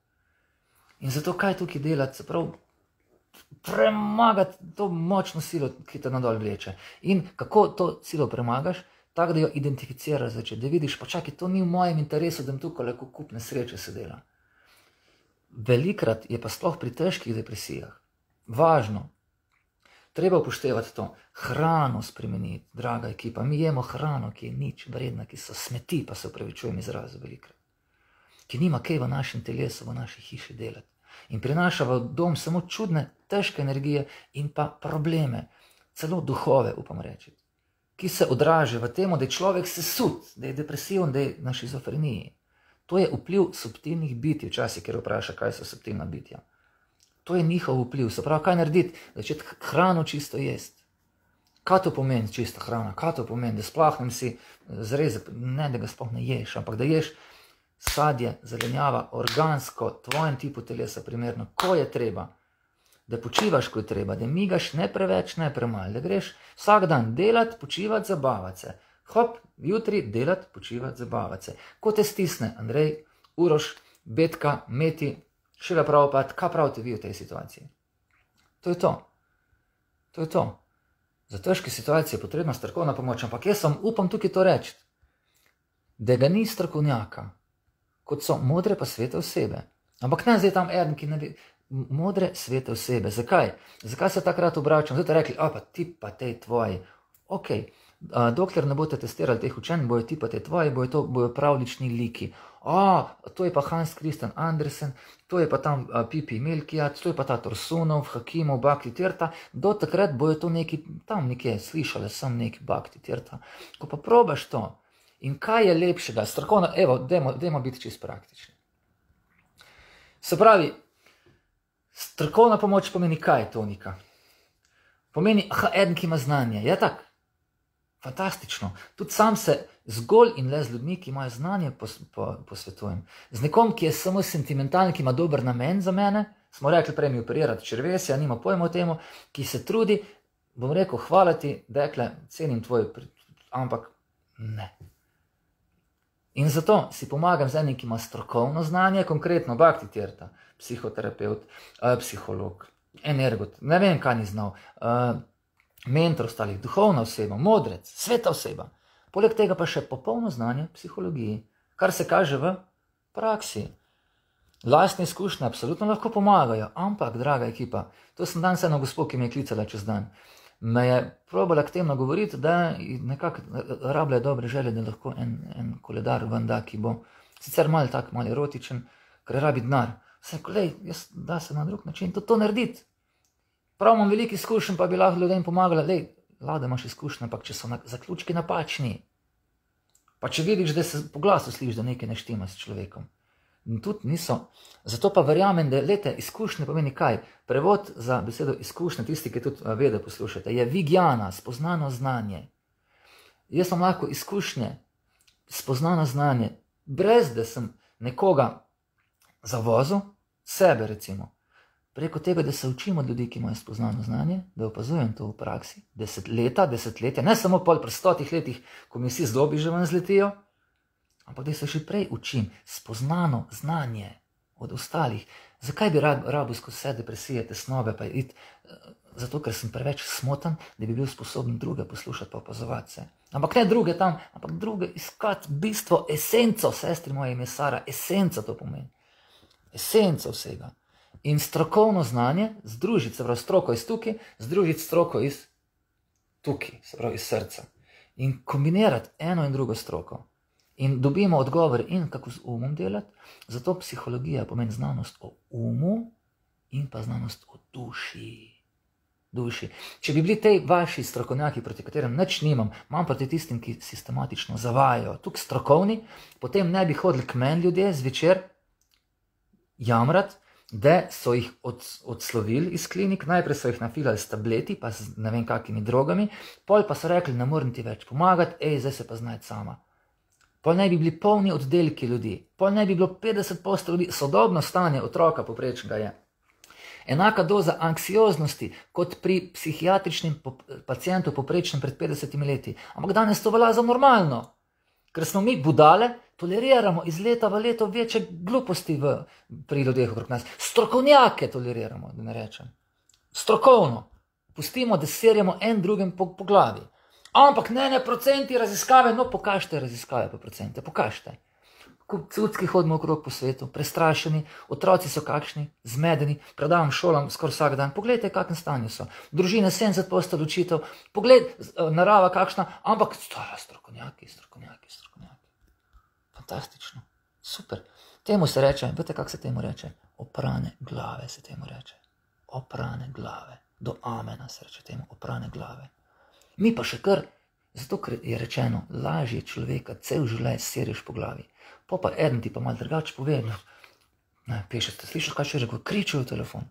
In zato kaj tukaj delati, se prav premagati to močno silo, ki te nadol vleče. In kako to silo premagaš? Tako, da jo identificiraš začeti, da vidiš, pa čakaj, to ni v mojem interesu, da jim tukaj lahko kupne sreče se dela. Velikrat je pa sploh pri težkih depresijah važno, treba upoštevati to, hrano spremeniti, draga ekipa, mi jemo hrano, ki je nič vredna, ki so smeti, pa se upravičujem izrazu velikrat, ki nima kaj v našem telesu, v naši hiši delati in prinaša v dom samo čudne, težke energije in pa probleme, celo duhove, upam reči, ki se odraža v tem, da je človek sesut, da je depresiven, da je na šizofreniji. To je vpliv subtilnih bitij, včasih, ker vpraša, kaj so subtilna bitja. To je njihov vpliv, se pravi, kaj narediti, začeti hrano čisto jesti. Kaj to pomeni čista hrana? Kaj to pomeni, da splahnem si zrezek, ne da ga sploh ne ješ, ampak da ješ sadje, zelenjava, organsko, tvojem tipu telesa primerno, ko je treba. Da počivaš, ko je treba, da migaš ne preveč, ne premalo, da greš vsak dan delati, počivati, zabavati se. Hop, jutri delati, počivati, zabavati se. Ko te stisne Andrej, Uroš, Betka, Meti, Šila Prabhupada, kaj pravite vi v tej situaciji? To je to. To je to. Za težke situacije je potrebna strokovna pomoč, ampak jaz sem upam tukaj to reči, da ga ni strokovnjaka, kot so modre pa svete osebe. Ampak ne zdaj tam eden, ki ne bi... Modre svete osebe. Zakaj? Zakaj se takrat obračam? Zdaj te rekli, a pa ti pa tej tvoji. Ok, a, dokler ne boste testirali teh učenj, bojo ti pa tej tvoji, bojo to bojo pravlični liki. A, to je pa Hans Christian Andersen, to je pa tam a, Pipi Milkijat, to je pa ta Torsunov, Hakimov, Bhakti Tirtha. Do takrat bojo to neki, tam nekje slišali sem neki Bhakti Tirtha. Ko pa probaš to, in kaj je lepšega, strokovno, evo, dajmo, dajmo biti čisto praktični. Se pravi, strokovna pomoč pomeni kaj, Tonika? Pomeni, aha, eden, ki ima znanje. Je tak? Fantastično. Tudi sam se zgolj in le z ljudmi, ki imajo znanje, pos, po, posvetujem. Z nekom, ki je samo sentimentalen, ki ima dober namen za mene, smo rekli prej mi operirati črvesja, nima pojma o temu, ki se trudi, bom rekel, hvala ti, dekle, cenim tvoj, ampak ne. In zato si pomagam z enim, ki ima strokovno znanje, konkretno Bhakti Tirtha, psihoterapeut, uh, psiholog, energot, ne vem, kaj ni znal, uh, mentor ostalih, duhovna oseba, modrec, sveta oseba. Poleg tega pa še popolno znanje psihologiji, kar se kaže v praksi. Lastne izkušnje absolutno lahko pomagajo, ampak, draga ekipa, to sem danes eno gospod, ki me je klicala čez dan, me je probala aktivno govoriti, da nekako rabljajo dobre želje, da lahko en, en koledar ven da, ki bo sicer malo tak, malo erotičen, ker rabi denar. Vse, kolej, jaz da se na drug način to, to narediti. Prav imam veliko izkušenj, pa bi lahko ljudem pomagala, lej, lada imaš izkušnje, ampak če so na, zaključki napačni, pa če vidiš, da se po glasu sliš, da nekaj ne štima s človekom. In tudi niso. Zato pa verjamem, da lete, izkušnje pomeni kaj? Prevod za besedo izkušnje, tisti, ki tudi vede poslušate, je vigjana, spoznano znanje. Jaz sem lahko izkušnje, spoznano znanje, brez da sem nekoga zavozil, sebe recimo, preko tega, da se učim od ljudi, ki imajo spoznano znanje, da opazujem to v praksi, deset leta, desetletja, ne samo pol pri stotih letih, ko mi vsi zlobi že ven zletijo, ampak da se še prej učim spoznano znanje od ostalih. Zakaj bi rabil skozi vse depresije, tesnobe, pa iti? Zato, ker sem preveč smotan, da bi bil sposoben druge poslušati pa opazovati se. Ampak ne druge tam, ampak druge iskati bistvo, esenco, sestri moje ime Sara, esenca to pomeni. Esenca vsega. In strokovno znanje združiti, se pravi stroko iz tukaj, združiti stroko iz tukaj, se pravi iz srca. In kombinirati eno in drugo stroko. In dobimo odgovor in kako z umom delati. Zato psihologija pomeni znanost o umu in pa znanost o duši. duši. Če bi bili tej vaši strokovnjaki, proti katerim nič nimam, imam proti tistim, ki sistematično zavajajo, tukaj strokovni, potem ne bi hodili k meni ljudje zvečer jamrat, da so jih od, odslovili iz klinik, najprej so jih nafilali s tableti, pa z ne vem kakimi drogami, pol pa so rekli, ne morem ti več pomagati, ej, zdaj se pa znajti sama. Pol naj bi bili polni oddelki ljudi, pol naj bi bilo petdeset posto ljudi, sodobno stanje otroka poprečnega je. Enaka doza anksioznosti kot pri psihiatričnem pacientu poprečnem pred petdesetimi leti. Ampak danes to velja za normalno, ker smo mi budale, toleriramo iz leta v leto večje gluposti v, pri ljudeh okrog nas. Strokovnjake toleriramo, da ne rečem. Strokovno. Pustimo, da serjamo en drugim po, po glavi. Ampak ne, ne, procenti raziskave, no pokažite raziskave po procente, pokažite. Cucki hodimo okrog po svetu, prestrašeni, otroci so kakšni, zmedeni, predavam šolam skoraj vsak dan. Poglejte, kakšne stanje so. Družine sedemdeset posto ločitev, pogled, narava kakšna, ampak strokovnjaki, strokovnjaki, strokovnjaki. Fantastično, super. Temu se reče, veste, kako se temu reče? Oprane glave se temu reče. Oprane glave. Do amena se reče temu, oprane glave. Mi pa še kar, zato ker je rečeno, lažje človeka cel življenj seriš po glavi. Po pa eden ti pa malo drugače pove, ne, piše, ste slišali, kaj še rekel, kričajo v telefon.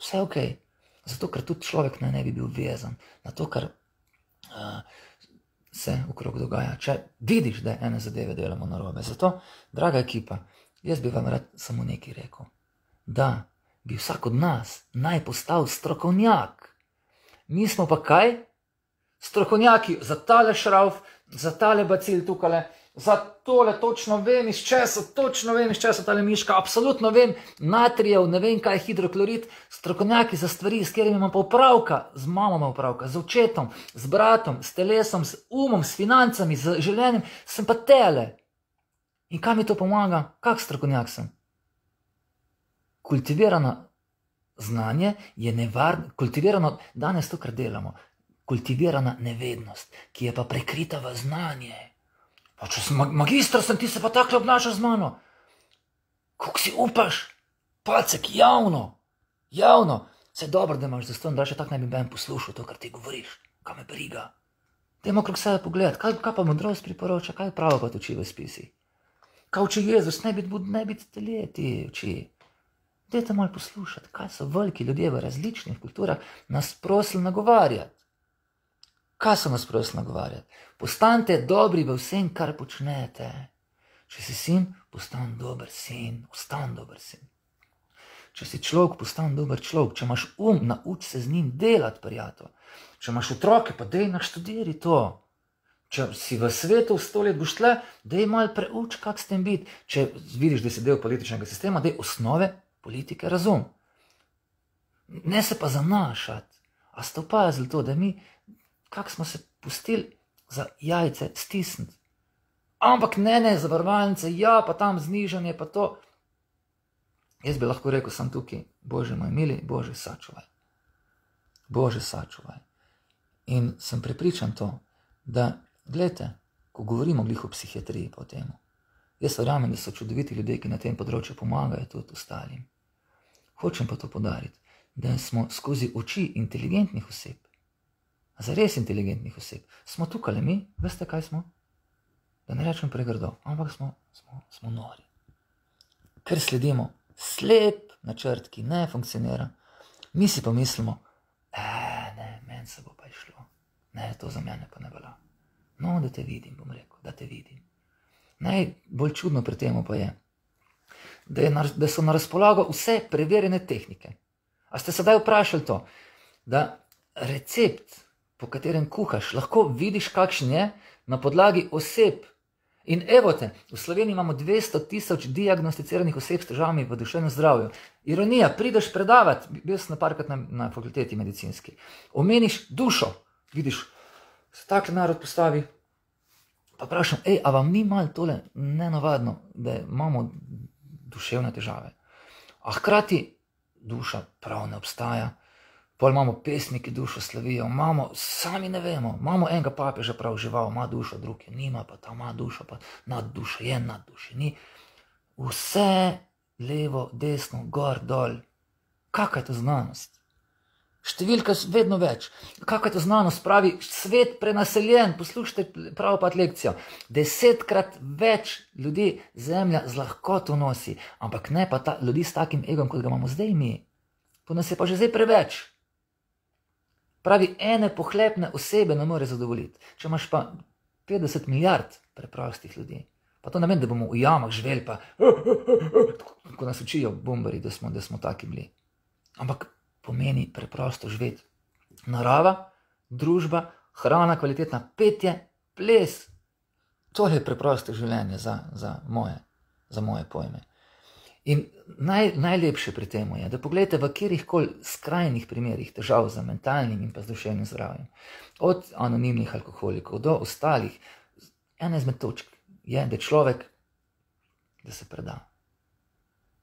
Vse ok. Zato, ker tudi človek ne, ne bi bil vezan na to, kar uh, se okrog dogaja. Če vidiš, da ene zadeve delamo narobe. Zato, draga ekipa, jaz bi vam rad samo nekaj rekel. Da bi vsak od nas naj postal strokovnjak. Mi smo pa kaj? Strokovnjaki za tale šrauf, za tale bacil tukale, za tole točno vem iz česa, točno vem iz česa tale miška, absolutno vem, natrijev, ne vem kaj je hidroklorid, strokovnjaki za stvari, s katerimi imam pa upravka, z mamo imam upravka, z očetom, z bratom, s telesom, s umom, s financami, z življenjem, sem pa tele. In kaj mi to pomaga? Kak strokovnjak sem? Kultivirano znanje je nevarno, kultivirano, danes to, kar delamo, kultivirana nevednost, ki je pa prekrita v znanje. Pa če sem magistr, sem ti se pa takle obnašal z mano. Kako si upaš? Pacek, javno, javno. Vse dobro, da imaš zaston, da še tak ne bi ben poslušal to, kar ti govoriš. Kaj me briga? Dajmo okrog sebe pogledati, kaj, kaj pa modrost priporoča, kaj pravo pa uči v spisi. Kaj uči Jezus, ne biti ne bit telje, ti uči. Dajte malo poslušati, kaj so veliki ljudje v različnih kulturah nas prosili nagovarjati. Kaj so nas prosili nagovarjati? Postanite dobri v vsem, kar počnete. Če si sin, postan dober sin, ostan dober sin. Če si človek, postan dober človek. Če imaš um, nauč se z njim delati, prijatelj. Če imaš otroke, pa dej naštudiri to. Če si v svetu sto let boš tle, dej malo preuč, kak s tem biti. Če vidiš, da si del političnega sistema, dej osnove politike razum. Ne se pa zanašati. A ste opazili to, da mi, kak smo se pustili za jajce stisniti. Ampak ne, ne, zavarovalnice, ja, pa tam znižanje, pa to. Jaz bi lahko rekel, sem tukaj, Bože moj mili, Bože sačuvaj. Bože sačuvaj. In sem prepričan to, da, gledajte, ko govorimo glih o psihiatriji pa o temu, jaz verjamem, da so čudoviti ljudje, ki na tem področju pomagajo tudi ostalim. Hočem pa to podariti, da smo skozi oči inteligentnih oseb, za res inteligentnih oseb, smo tukaj mi, veste kaj smo? Da ne rečem pregrdo, ampak smo, smo, smo nori. Ker sledimo slep načrt, ki ne funkcionira, mi si pa mislimo, e, ne, meni se bo pa išlo, ne, to za mene pa ne velja. No, da te vidim, bom rekel, da te vidim. Najbolj čudno pri temu pa je, da, je na, da so na razpolago vse preverjene tehnike. A ste sedaj vprašali to, da recept, po katerem kuhaš, lahko vidiš, kakšen je na podlagi oseb. In evo te, v Sloveniji imamo dvesto tisoč diagnosticiranih oseb s težavami v duševnem zdravju. Ironija, prideš predavati, bil sem parkrat na, na fakulteti medicinski, omeniš dušo, vidiš, se takle narod postavi, pa vprašam, ej, a vam ni malo tole nenavadno, da imamo duševne težave? A hkrati duša prav ne obstaja, pol imamo pesniki dušo slavijo, imamo, sami ne vemo, imamo enega papeža prav žival, ima dušo, drug je nima, pa ta ima dušo, pa nad dušo je, nad dušo ni. Vse levo, desno, gor, dol. Kakva je to znanost? Številka vedno več. Kakva je to znanost? Pravi, svet prenaseljen, poslušajte Prabhupada lekcijo. Desetkrat več ljudi zemlja z lahkoto nosi, ampak ne pa ta, ljudi s takim egom, kot ga imamo zdaj mi. To nas je pa že zdaj preveč. Pravi, ene pohlepne osebe ne more zadovoljiti. Če imaš pa petdeset milijard preprostih ljudi, pa to ne vem, da bomo v jamah živeli, pa ko nas učijo bombari, da smo, da smo taki bili. Ampak pomeni preprosto živeti. Narava, družba, hrana, kvalitetna, petje, ples. To je preprosto življenje za, za, moje, za moje pojme. In naj, najlepše pri tem je, da pogledajte v katerihkoli skrajnih primerih težav za mentalnim in pa z duševnim zdravjem, od anonimnih alkoholikov do ostalih, ena izmed točk je, da človek, da se preda,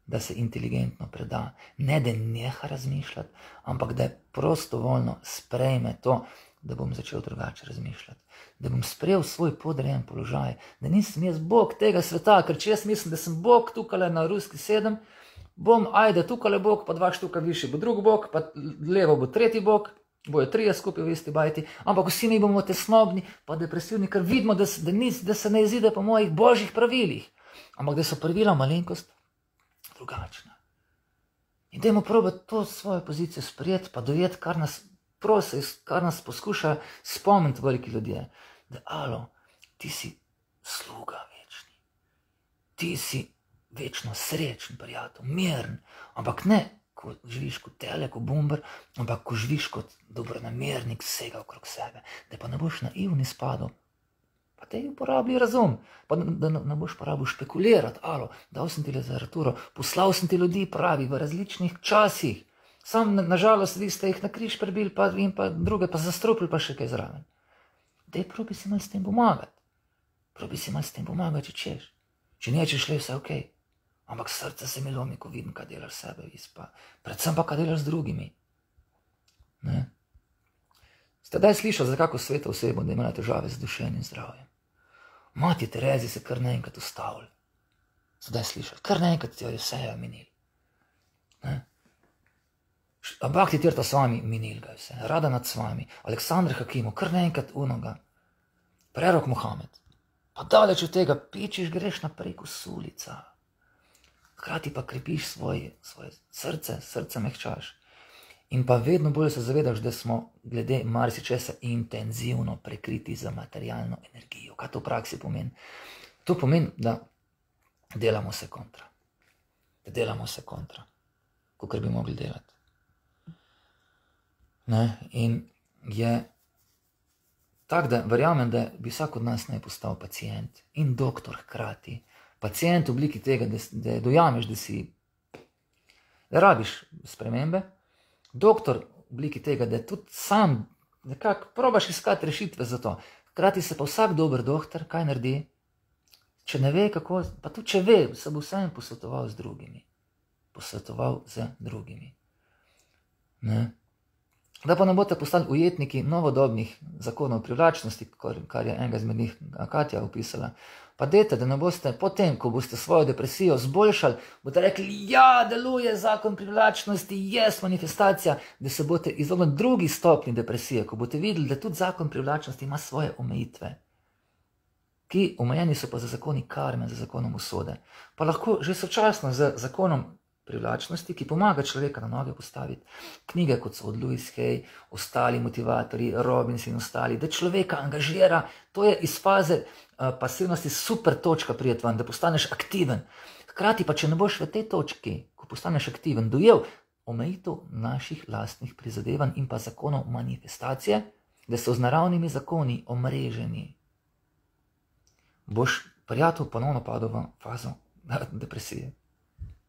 da se inteligentno preda, ne da neha razmišljati, ampak da prostovoljno sprejme to, da bom začel drugače razmišljati, da bom sprejel svoj podrejen položaj, da nisem jaz Bog tega sveta, ker če jaz mislim, da sem Bog tukaj na ruski sedem, bom, ajde, tukaj je Bog, pa dva štuka višji bo drug Bog, pa levo bo tretji Bog, bojo trije skupaj v isti bajti, ampak vsi mi bomo tesnobni, pa depresivni, ker vidimo, da se, da nis, da se ne izide po mojih božjih pravilih, ampak da so pravila malenkost drugačna. In dajmo probati to svojo pozicijo sprejeti, pa dojeti, kar nas prosi, kar nas poskuša spomniti veliki ljudje, da alo, ti si sluga večni, ti si večno srečen, prijatelj, miren, ampak ne, ko živiš kot tele, kot bomber, ampak ko živiš kot dobronamernik vsega okrog sebe, da pa ne boš naivni spadal, pa te uporabi razum, pa da ne boš porabil špekulirati, alo, dal sem ti literaturo, poslal sem ti ljudi pravi v različnih časih, sam nažalost vi ste jih na križ prebili pa, in pa druge pa zastrupili pa še kaj zraven. Dej, probi si malo s tem pomagati. Probi si malo s tem pomagati, če češ. Če nečeš le, vse ok. Ampak srce se mi lomi, ko vidim, kaj delaš sebe, pa, predvsem pa, kaj delaš z drugimi. Ne? Ste daj slišali za kako sveto osebo, da ima težave z duševnim zdravjem? Mati Terezi se kar naenkrat ustavili. Ste daj slišali, kar naenkrat ti jo vse je minili. Ne? Bhakti Tirtha Swami minil ga vse, Rada nad Swami, Aleksandr Hakimov, kar naenkrat unoga, Prerok Mohamed. Pa daleč od tega pičiš, greš naprej kot sulica. Hkrati pa krepiš svoje, svoje srce, srce mehčaš. In pa vedno bolj se zavedaš, da smo glede marsičesa intenzivno prekriti za materialno energijo. Kaj to v praksi pomeni? To pomeni, da delamo se kontra. Da delamo se kontra, kakor bi mogli delati. Ne? In je tak, da verjamem, da bi vsak od nas naj postal pacijent in doktor hkrati. Pacijent v obliki tega, da, da dojameš, da si, da rabiš spremembe. Doktor v obliki tega, da tudi sam nekako probaš iskati rešitve za to. Hkrati se pa vsak dober doktor, kaj naredi? Če ne ve kako, pa tudi če ve, se bo vsem posvetoval z drugimi. Posvetoval z drugimi. Ne? Da pa ne boste postali ujetniki novodobnih zakonov privlačnosti, kar je enega izmed njih Katja opisala. Pa dejte, da ne boste potem, ko boste svojo depresijo zboljšali, boste rekli, ja, deluje zakon privlačnosti, jest manifestacija, da se boste izognili drugi stopni depresije, ko boste videli, da tudi zakon privlačnosti ima svoje omejitve, ki omejeni so pa za zakoni karme, za zakonom usode. Pa lahko že sočasno z zakonom privlačnosti, ki pomaga človeka na noge postaviti. Knjige, kot so od Louise Hay, ostali motivatorji, Robbins in ostali, da človeka angažira, to je iz faze uh, pasivnosti super točka prijeti ven, da postaneš aktiven. Hkrati pa, če ne boš v tej točki, ko postaneš aktiven, dojel omejitev naših lastnih prizadevanj in pa zakonov manifestacije, da so z naravnimi zakoni omreženi, boš prijatelj ponovno padel v fazo depresije.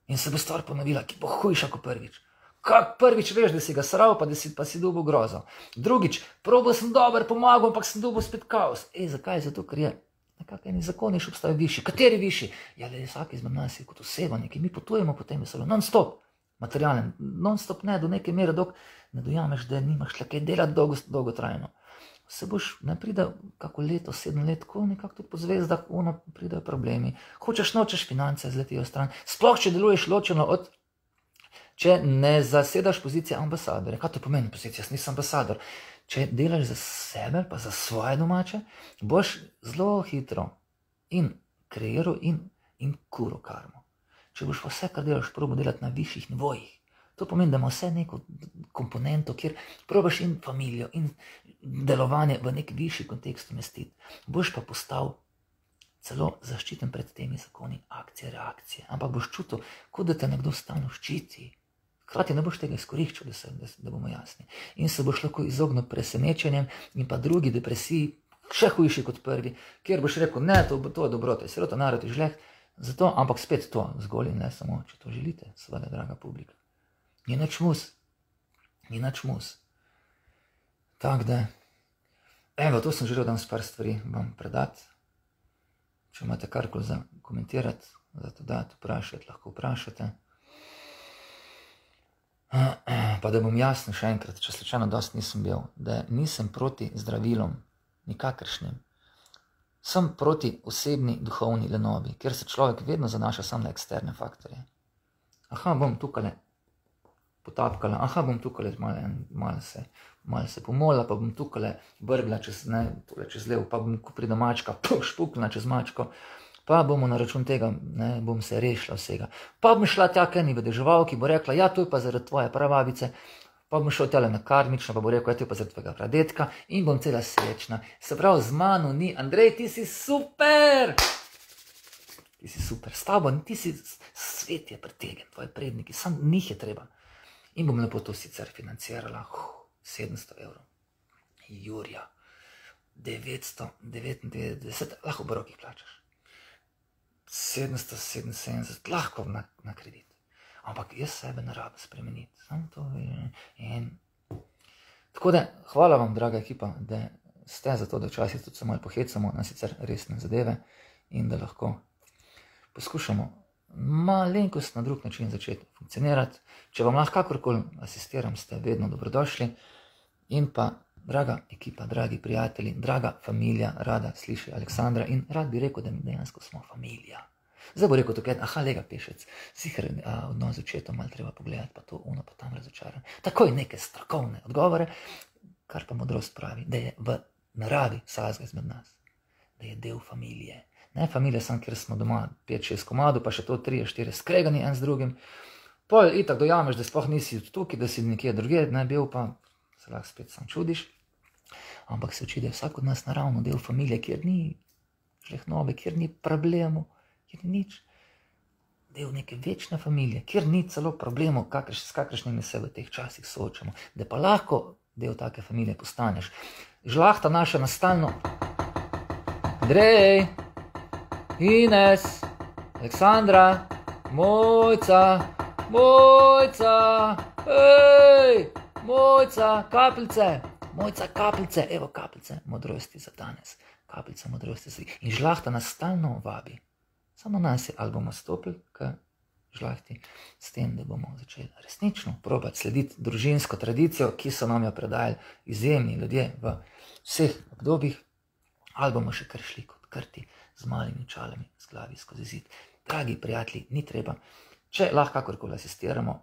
In se bo stvar ponovila, ki bo hujša kot prvič. Kak prvič veš, da si ga sral, pa da si, pa si dobil grozo. Drugič, probal sem dober, pomagal, ampak sem dobil spet kaos. Ej, zakaj? Zato, ker je nekako eni zakoni še obstajajo višji. Kateri višji? Ja, le vsak izmed nas je kot oseba, neki mi potujemo po tem vesolju. Non-stop, materialen. Non-stop ne, do neke mere, dok ne dojameš, da nimaš le kaj delati dolgo, dolgotrajno. Se boš, ne pride kako leto, sedem let, ko nekako tudi po zvezdah, ono pridejo problemi. Hočeš, nočeš, finance zletijo stran. Sploh, če deluješ ločeno od če ne zasedaš pozicije ambasadorja. Kaj to pomeni pozicija? Jaz nisem ambasador. Če delaš za sebe, pa za svoje domače, boš zelo hitro in kreiral in, in kuro karmo. Če boš pa vse, kar delaš, probo delati na višjih nivojih, to pomeni, da ima vse neko komponento, kjer probaš in familijo, in delovanje v nek višji kontekst umestiti. Boš pa postal celo zaščiten pred temi zakoni akcije, reakcije. Ampak boš čutil, kot da te nekdo stalno ščiti. Hkrati ne boš tega izkoriščal, da, se, da, da bomo jasni. In se boš lahko izognil presenečenjem in pa drugi depresiji, še hujši kot prvi, kjer boš rekel, ne, to, to je dobrota, je sirota, narod je žleh, zato, ampak spet to, zgolj in ne samo, če to želite, seveda, draga publika. Ni nič mus, ni nič mus. Tako da, evo, to sem želel danes par stvari vam predati. Če imate karkoli za komentirati, za to dati, vprašati, lahko vprašate. Pa da bom jasno še enkrat, če slučajno dosti nisem bil, da nisem proti zdravilom, nikakršnim. Sem proti osebni duhovni lenobi, kjer se človek vedno zanaša samo na eksterne faktorje. Aha, bom tukaj potapkala, aha, bom tukaj malo, malo se, malo se pomola, pa bom tukaj brgla čez, ne, čez levo, pa bom, ko pride mačka, puh, špukla čez mačko, pa bomo na račun tega, ne, bom se rešila vsega. Pa bom šla tja k eni vedeževalki, bo rekla, ja, to je pa zaradi tvoje prababice, pa bom šel tjale na karmično, pa bo rekel, ja, to je pa zaradi tvojega pradetka in bom cela srečna. Se pravi, z mano ni, Andrej, ti si super! Ti si super, s tabo, ti si, svet je pretegen, tvoji predniki, sam njih je treba. In bom lepo to sicer financirala, uh, sedemsto evrov. Jurja, devetsto devetindevetdeset, lahko v rokih plačaš. sedemsto sedeminsedemdeset, lahko na, na kredit. Ampak jaz sebe ne rabim spremeniti. Samo to in... Tako da, hvala vam, draga ekipa, da ste za to, da včasih tudi se malo pohecamo na sicer resne zadeve in da lahko poskušamo malenkost na drug način začeti funkcionirati. Če vam lahko kakorkoli asistiram, ste vedno dobrodošli. In pa, draga ekipa, dragi prijatelji, draga familija, rada sliši Aleksandra in rad bi rekel, da mi dejansko smo familija. Zdaj bo rekel tukaj, aha, lega pešec, sicer odnos z očetom malo treba pogledati, pa to, ono, pa tam razočaran. Takoj neke strokovne odgovore, kar pa modrost pravi, da je v naravi vsakega izmed nas, da je del familije. Ne, familija sam, kjer smo doma pet šest komadov, pa še to tri štiri skregani en z drugim. Pol itak dojameš, da sploh nisi tukaj, da si nekje druge, ne bil pa, se lahko spet sam čudiš. Ampak se uči, da je vsak od nas naravno del familije, kjer ni žlehnobe, kjer ni problemu, kjer ni nič. Del neke večne familije, kjer ni celo problemov, kakrš, s kakršnimi se v teh časih soočamo. Da pa lahko del take familije postaneš. Žlahta naša nastalno. Andrej! Ines, Aleksandra, Mojca, Mojca, hej, Mojca, kapljice, Mojca, kapljice, evo kapljice modrosti za danes, kapljice modrosti za danes. In žlahta nas stalno vabi, samo nas je, ali bomo stopili k žlahti s tem, da bomo začeli resnično probati slediti družinsko tradicijo, ki so nam jo predajali izjemni ljudje v vseh obdobjih, ali bomo še kar šli kot krti, z malimi čalami, z glavi skozi zid. Dragi prijatelji, ni treba. Če lahko kakorkoli asistiramo,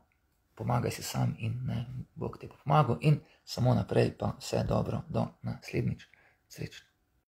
pomagaj si sam in ne, Bog te bo pomagal in samo naprej pa vse dobro do naslednjič. Srečno.